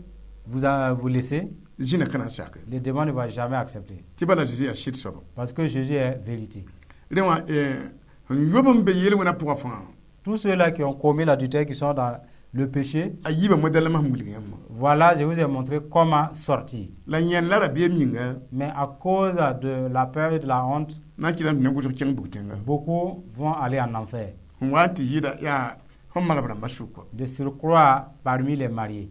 vous, euh, vous laisser, zĩna ka na n sake. Le démon ne va jamais accepter. Tɩ bala Zeezi yaa sɩd soaba. Parce que Jésus est vérité. Rẽ wã sẽn yob n be yel-wẽna pʋgã fãa, Tous ceux-là qui ont commis l'adultère, qui sont dans le péché, a yiibã modɛlmã sẽn wilg yãmbã. Voilà, je vous ai montré comment sortir. La yẽnd la rabeem yĩnga, Mais à cause de la peur et de la honte, na n kɩtame tɩ ne wʋsg kẽng bug-tẽnga. Beaucoup vont aller en enfer. Sẽn wa n tɩ yɩɩda yaa sẽn malb rãmbã sʋka. De surcroît parmi les mariés.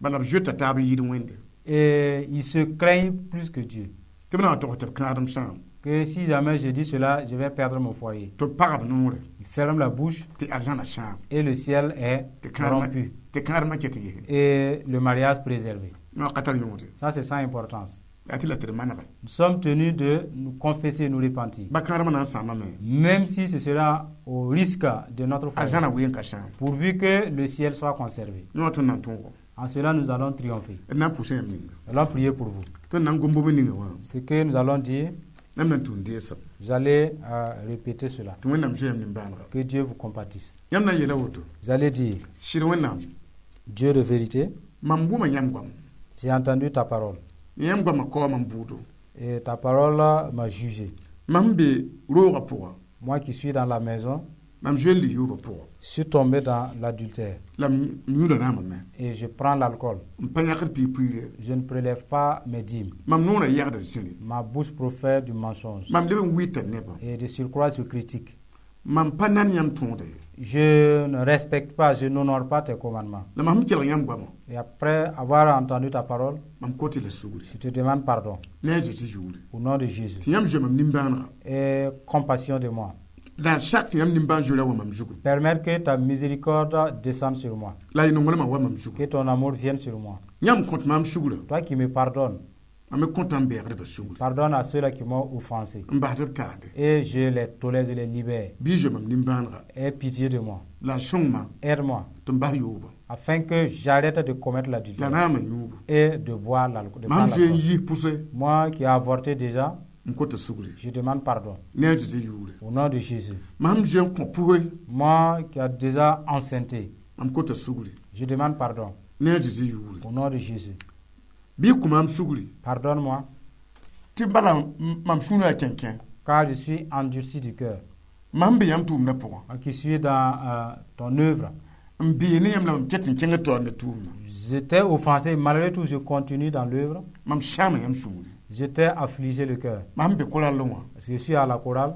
Bala b zoeta taab n yɩɩd Wẽnde. Et ils se craignent plus que Dieu. Tɩ b na n tog tɩ b kãadem sãam. Que si jamais je dis cela, je vais perdre mon foyer. Tɩ b pagb noore. Ils ferment la bouche Tɩ arzãna sãam. Et le ciel est Tɩ kãadmã rompu. Tɩ kãadmã ket yese. Et le mariage préservé. Yõ ka tar yõode. Ça, c'est sans importance. Yaa tɩ la tɩ d manege. Nous sommes tenus de nous confesser et nous repentir. Ba kãadmã na n sãamame. Même si ce sera au risque de notre foyer. Arzãna ween ka sãam. Pourvu que le ciel soit conservé. Yõ tõnd na n tõogo. En cela, nous allons triompher. D na n pʋʋsa yãmb ninga. Nous allons prier pour vous. Tõnd na n gom bõmb ninga wã. Ce que nous allons dire, Yãmb na n tũud deesem. Vous allez euh, répéter cela. Tɩ Wẽnnaam zoe yãmb nimbãanega. Que Dieu vous compatisse. Yãmb na n yeela woto. Vous allez dire, Sɩd Wẽnnaam, Dieu de vérité, mam wʋma yãmb goam. J'ai entendu ta parole. Yãmb goamã kaoa mam buudo. Et ta parole m'a jugé. Mam be roogã pʋga. Moi qui suis dans la maison, Mam zoe n lɩ yoobã pʋga. je suis tombé dans l'adultère. La m yũuda rãambame. Et je prends l'alcool. M pa yãkd piig-piire. Je ne prélève pas mes dîmes. Mam noorã yagda zĩri. Ma bouche profère du mensonge. Mam leb n wɩɩta nebã. Et de surcroît, je critique. Mam pa nan yãmb tõoda ye. Je ne respecte pas, je n'honore pas tes commandements. La mam sẽn kelg yãmb goamã. Et après avoir entendu ta parole, Mam kot-y la sugri. je te demande pardon. Ne a Zezi yʋʋre. Au nom de Jésus. Tɩ yãmb zoe mam nimbãanega. Et compassion de moi. La a sak tɩ yãmb nimbãan-zoeerã wa mam zugu. Permettre que ta miséricorde descende sur moi. La y nonglmã wa mam zugu. Que ton amour vienne sur moi. Yãmb kõt maam sugrã. Toi qui me pardonnes, Mam me kõta n beegdbã sugri. pardonne à ceux-là qui m'ont offensé. N basd b taale. Et je les tolère, je les libère. Bɩ zoe mam nimbãanega. Aie pitié de moi. La a sõng-ma Aide-moi tɩ m bas yooba. afin que j'arrête de commettre La l'adultère raamã yũubu. et de boire l'alcool. de Mam prendre zoe n l'alcool. yis pʋse Moi qui ai avorté déjà, n kota sugri. je demande pardon. Ne a Zezi yʋʋre. Au nom de Jésus. Mam zoe n kõ pʋge Moi qui ai déjà enceinté, mam kota sugri. je demande pardon. Ne a Zezi yʋʋre. Au nom de Jésus. Bɩ y kõ maam sugri. Pardonne-moi, Tɩ bala m- mam sũurã yaa kẽnkẽ. car je suis endurci du cœur. Mam be yãmb tʋʋmdã pʋgã. Moi qui suis dans euh, ton œuvre. N bee ne yãmb la mam ket n kẽngd taoor ne tʋʋmdã. J'étais offensé, malgré tout, je continue dans l'œuvre. Mam sãama yãmb sũuri. J'étais affligé le cœur. Mam be korallẽ wã. Parce que je suis à la chorale.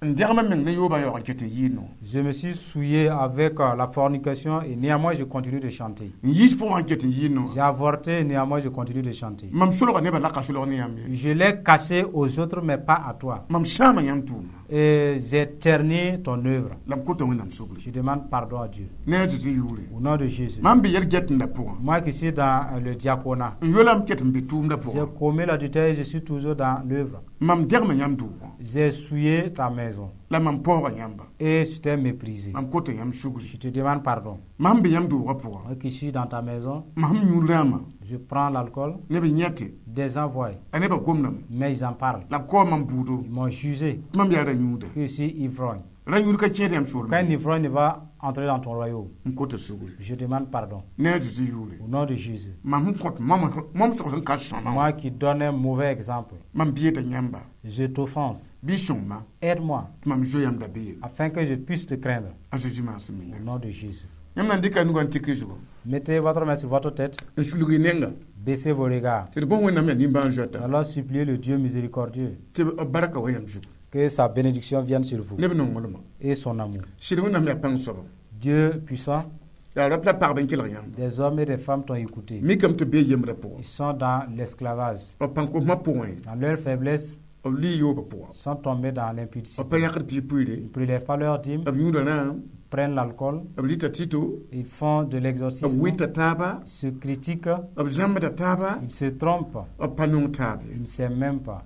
N dẽgmã meng ne yoobã yaoog n ket n yɩɩd no. Je me suis souillé avec euh, la fornication et néanmoins je continue de chanter. N yiis pʋgã n ket n yɩɩd no. J'ai avorté et néanmoins je continue de chanter. Mam solga nebã la ka solg ne yãmb ye. Je l'ai caché aux autres, mais pas à toi. Mam sãama yãmb tʋʋmdã. Et j'ai terni ton œuvre. La m kota Wẽnnaam sugri. Je demande pardon à Dieu. Ne a Zezi yʋʋre. Au nom de Jésus. Mam be yɛl-gɛtẽndã pʋgã. Moi qui suis dans euh, le diaconat, N yola m ket n be tʋʋmdã j'ai pʋgã. commis l'adultère et je suis toujours dans l'œuvre. Mam dẽgma yãmb doogã. J'ai souillé ta maison La mam paooga yãmba. et je t'ai méprisé. Mam kota yãmb sugri. Je te demande pardon. Mam be yãmb doogã pʋgã. Moi qui suis dans ta maison, Mam yũ rãamã. je prends l'alcool, Neb n yẽte. des gens voient, A nebã gomdame. mais ils en parlent. La b kaoa mam buudo. Ils m'ont jugé Tɩ mam yaa ra-yũuda. que je suis ivrogne. Ra-yũud ka kẽed yãmb soolmẽ. Qu'un ivrogne va entrer dans ton royaume. N kota sugri. Je demande pardon. Ne a Zezi yʋʋre. Au nom de Jésus. Mam sẽn kõt mam mam sog sẽn ka sõma wã. Moi qui donne un mauvais exemple, Mam bieda yãmba. je t'offense. Bɩ sõng-ma Aide-moi tɩ mam zoe yãmb dabeem. afin que je puisse te craindre. A Zezi maasem Au menga. nom de Jésus. Yãmb na n dɩka nugã n tik y zugu. Mettez votre main sur votre tête, N sulg y nenga. baissez vos regards. Tɩ d bõs Wẽnnaam yaa nimbãan-zoeta. Alors suppliez le Dieu miséricordieux Tɩ b barka wa yãmb zugu. que sa bénédiction vienne sur vous Neb nonglmã. et son amour. Sɩd Wẽnnaam yaa pãng soaba. Dieu puissant, Yaa rap la pagb n kelg yãmb. des hommes et des femmes t'ont écouté. Mikame tɩ b bee yembrã pʋgã. Ils sont dans l'esclavage. B pãn kosmã pʋgẽ. Dans leur faiblesse, B lɩ yoobã pʋgã. ils sont tombés dans B l'impudicité. pa yãkd piig-piire. Ils ne prélèvent pas leur dîme, B yũuda rãam. prennent l'alcool, B rɩta tito. ils font de B l'exorcisme, wɩta taaba. ils se critiquent, B zãmbda taaba. ils se trompent, B pa nong taab ye. ils ne s'aiment même pas.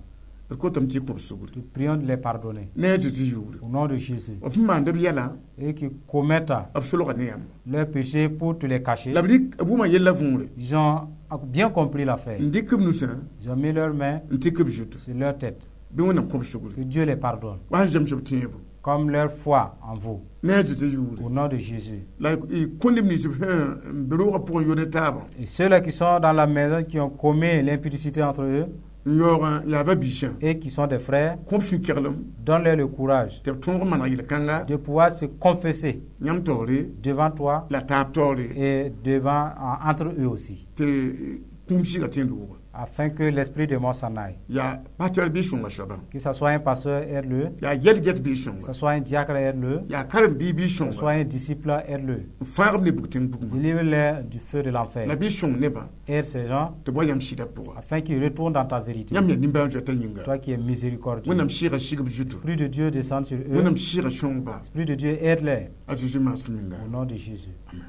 D kotame tɩ y kõ b sugri. Nous prions de les pardonner. Ne a Zezi yʋʋre. Au nom de Jésus. B sẽn maand b yɛla, Et qui commettent b solga ne yãmb. leurs péchés pour te les cacher. La b rɩk b wʋma yella võore. Ils ont bien compris l'affaire. N dɩk b nusã Ils ont mis leurs mains n tɩk b zutu. sur leur tête. Bɩ Wẽnnaam kõ b sugri. Que Dieu les pardonne. Wa sẽn zems b tẽebo. Comme leur foi en vous. Ne a Zezi yʋʋre. Au nom de Jésus. La y kõ neb nins b sẽn n be roogã pʋgẽ yo ne taabã. Et ceux-là qui sont dans la maison, qui ont commis l'impudicité entre eux N yaoogã yaa ba-biisã. et qui sont des frères, Kõ b sũ-keglem donne-leur le courage tɩ b tõog n maneg yel-kãnga de pouvoir se confesser yãmb taoore devant toi la taab taoore et devant, en- entre eux aussi, tɩ kũum sɩga tẽ looga. afin que l'esprit de mort s'en aille. Yaa pasteur bɩ sõnga soabã. Que ce soit un pasteur, aide-le, Yaa yɛl-get bɩ que sõnga. ce soit un diacre, aide-le, Yaa karen-biig bɩ que ce sõnga. soit un disciple, aide-le. N fãag b ne bug-tẽng bugmã. Délivre-les du feu de l'enfer. La bɩ sõng nebã Aide ces gens tɩ b wa yãmb sɩdã pʋga. afin qu'ils retournent dans ta vérité. Yãmb yaa nimbãan-zoetã yĩnga. Toi qui es miséricordieux. Wẽnnaam sɩɩga sig b zutu. L'Esprit de Dieu descend sur eux. Wẽnnaam sɩɩga sõngba. L'Esprit de Dieu aide-les A Zezi maasem ninga. au nom de Jésus. Amen.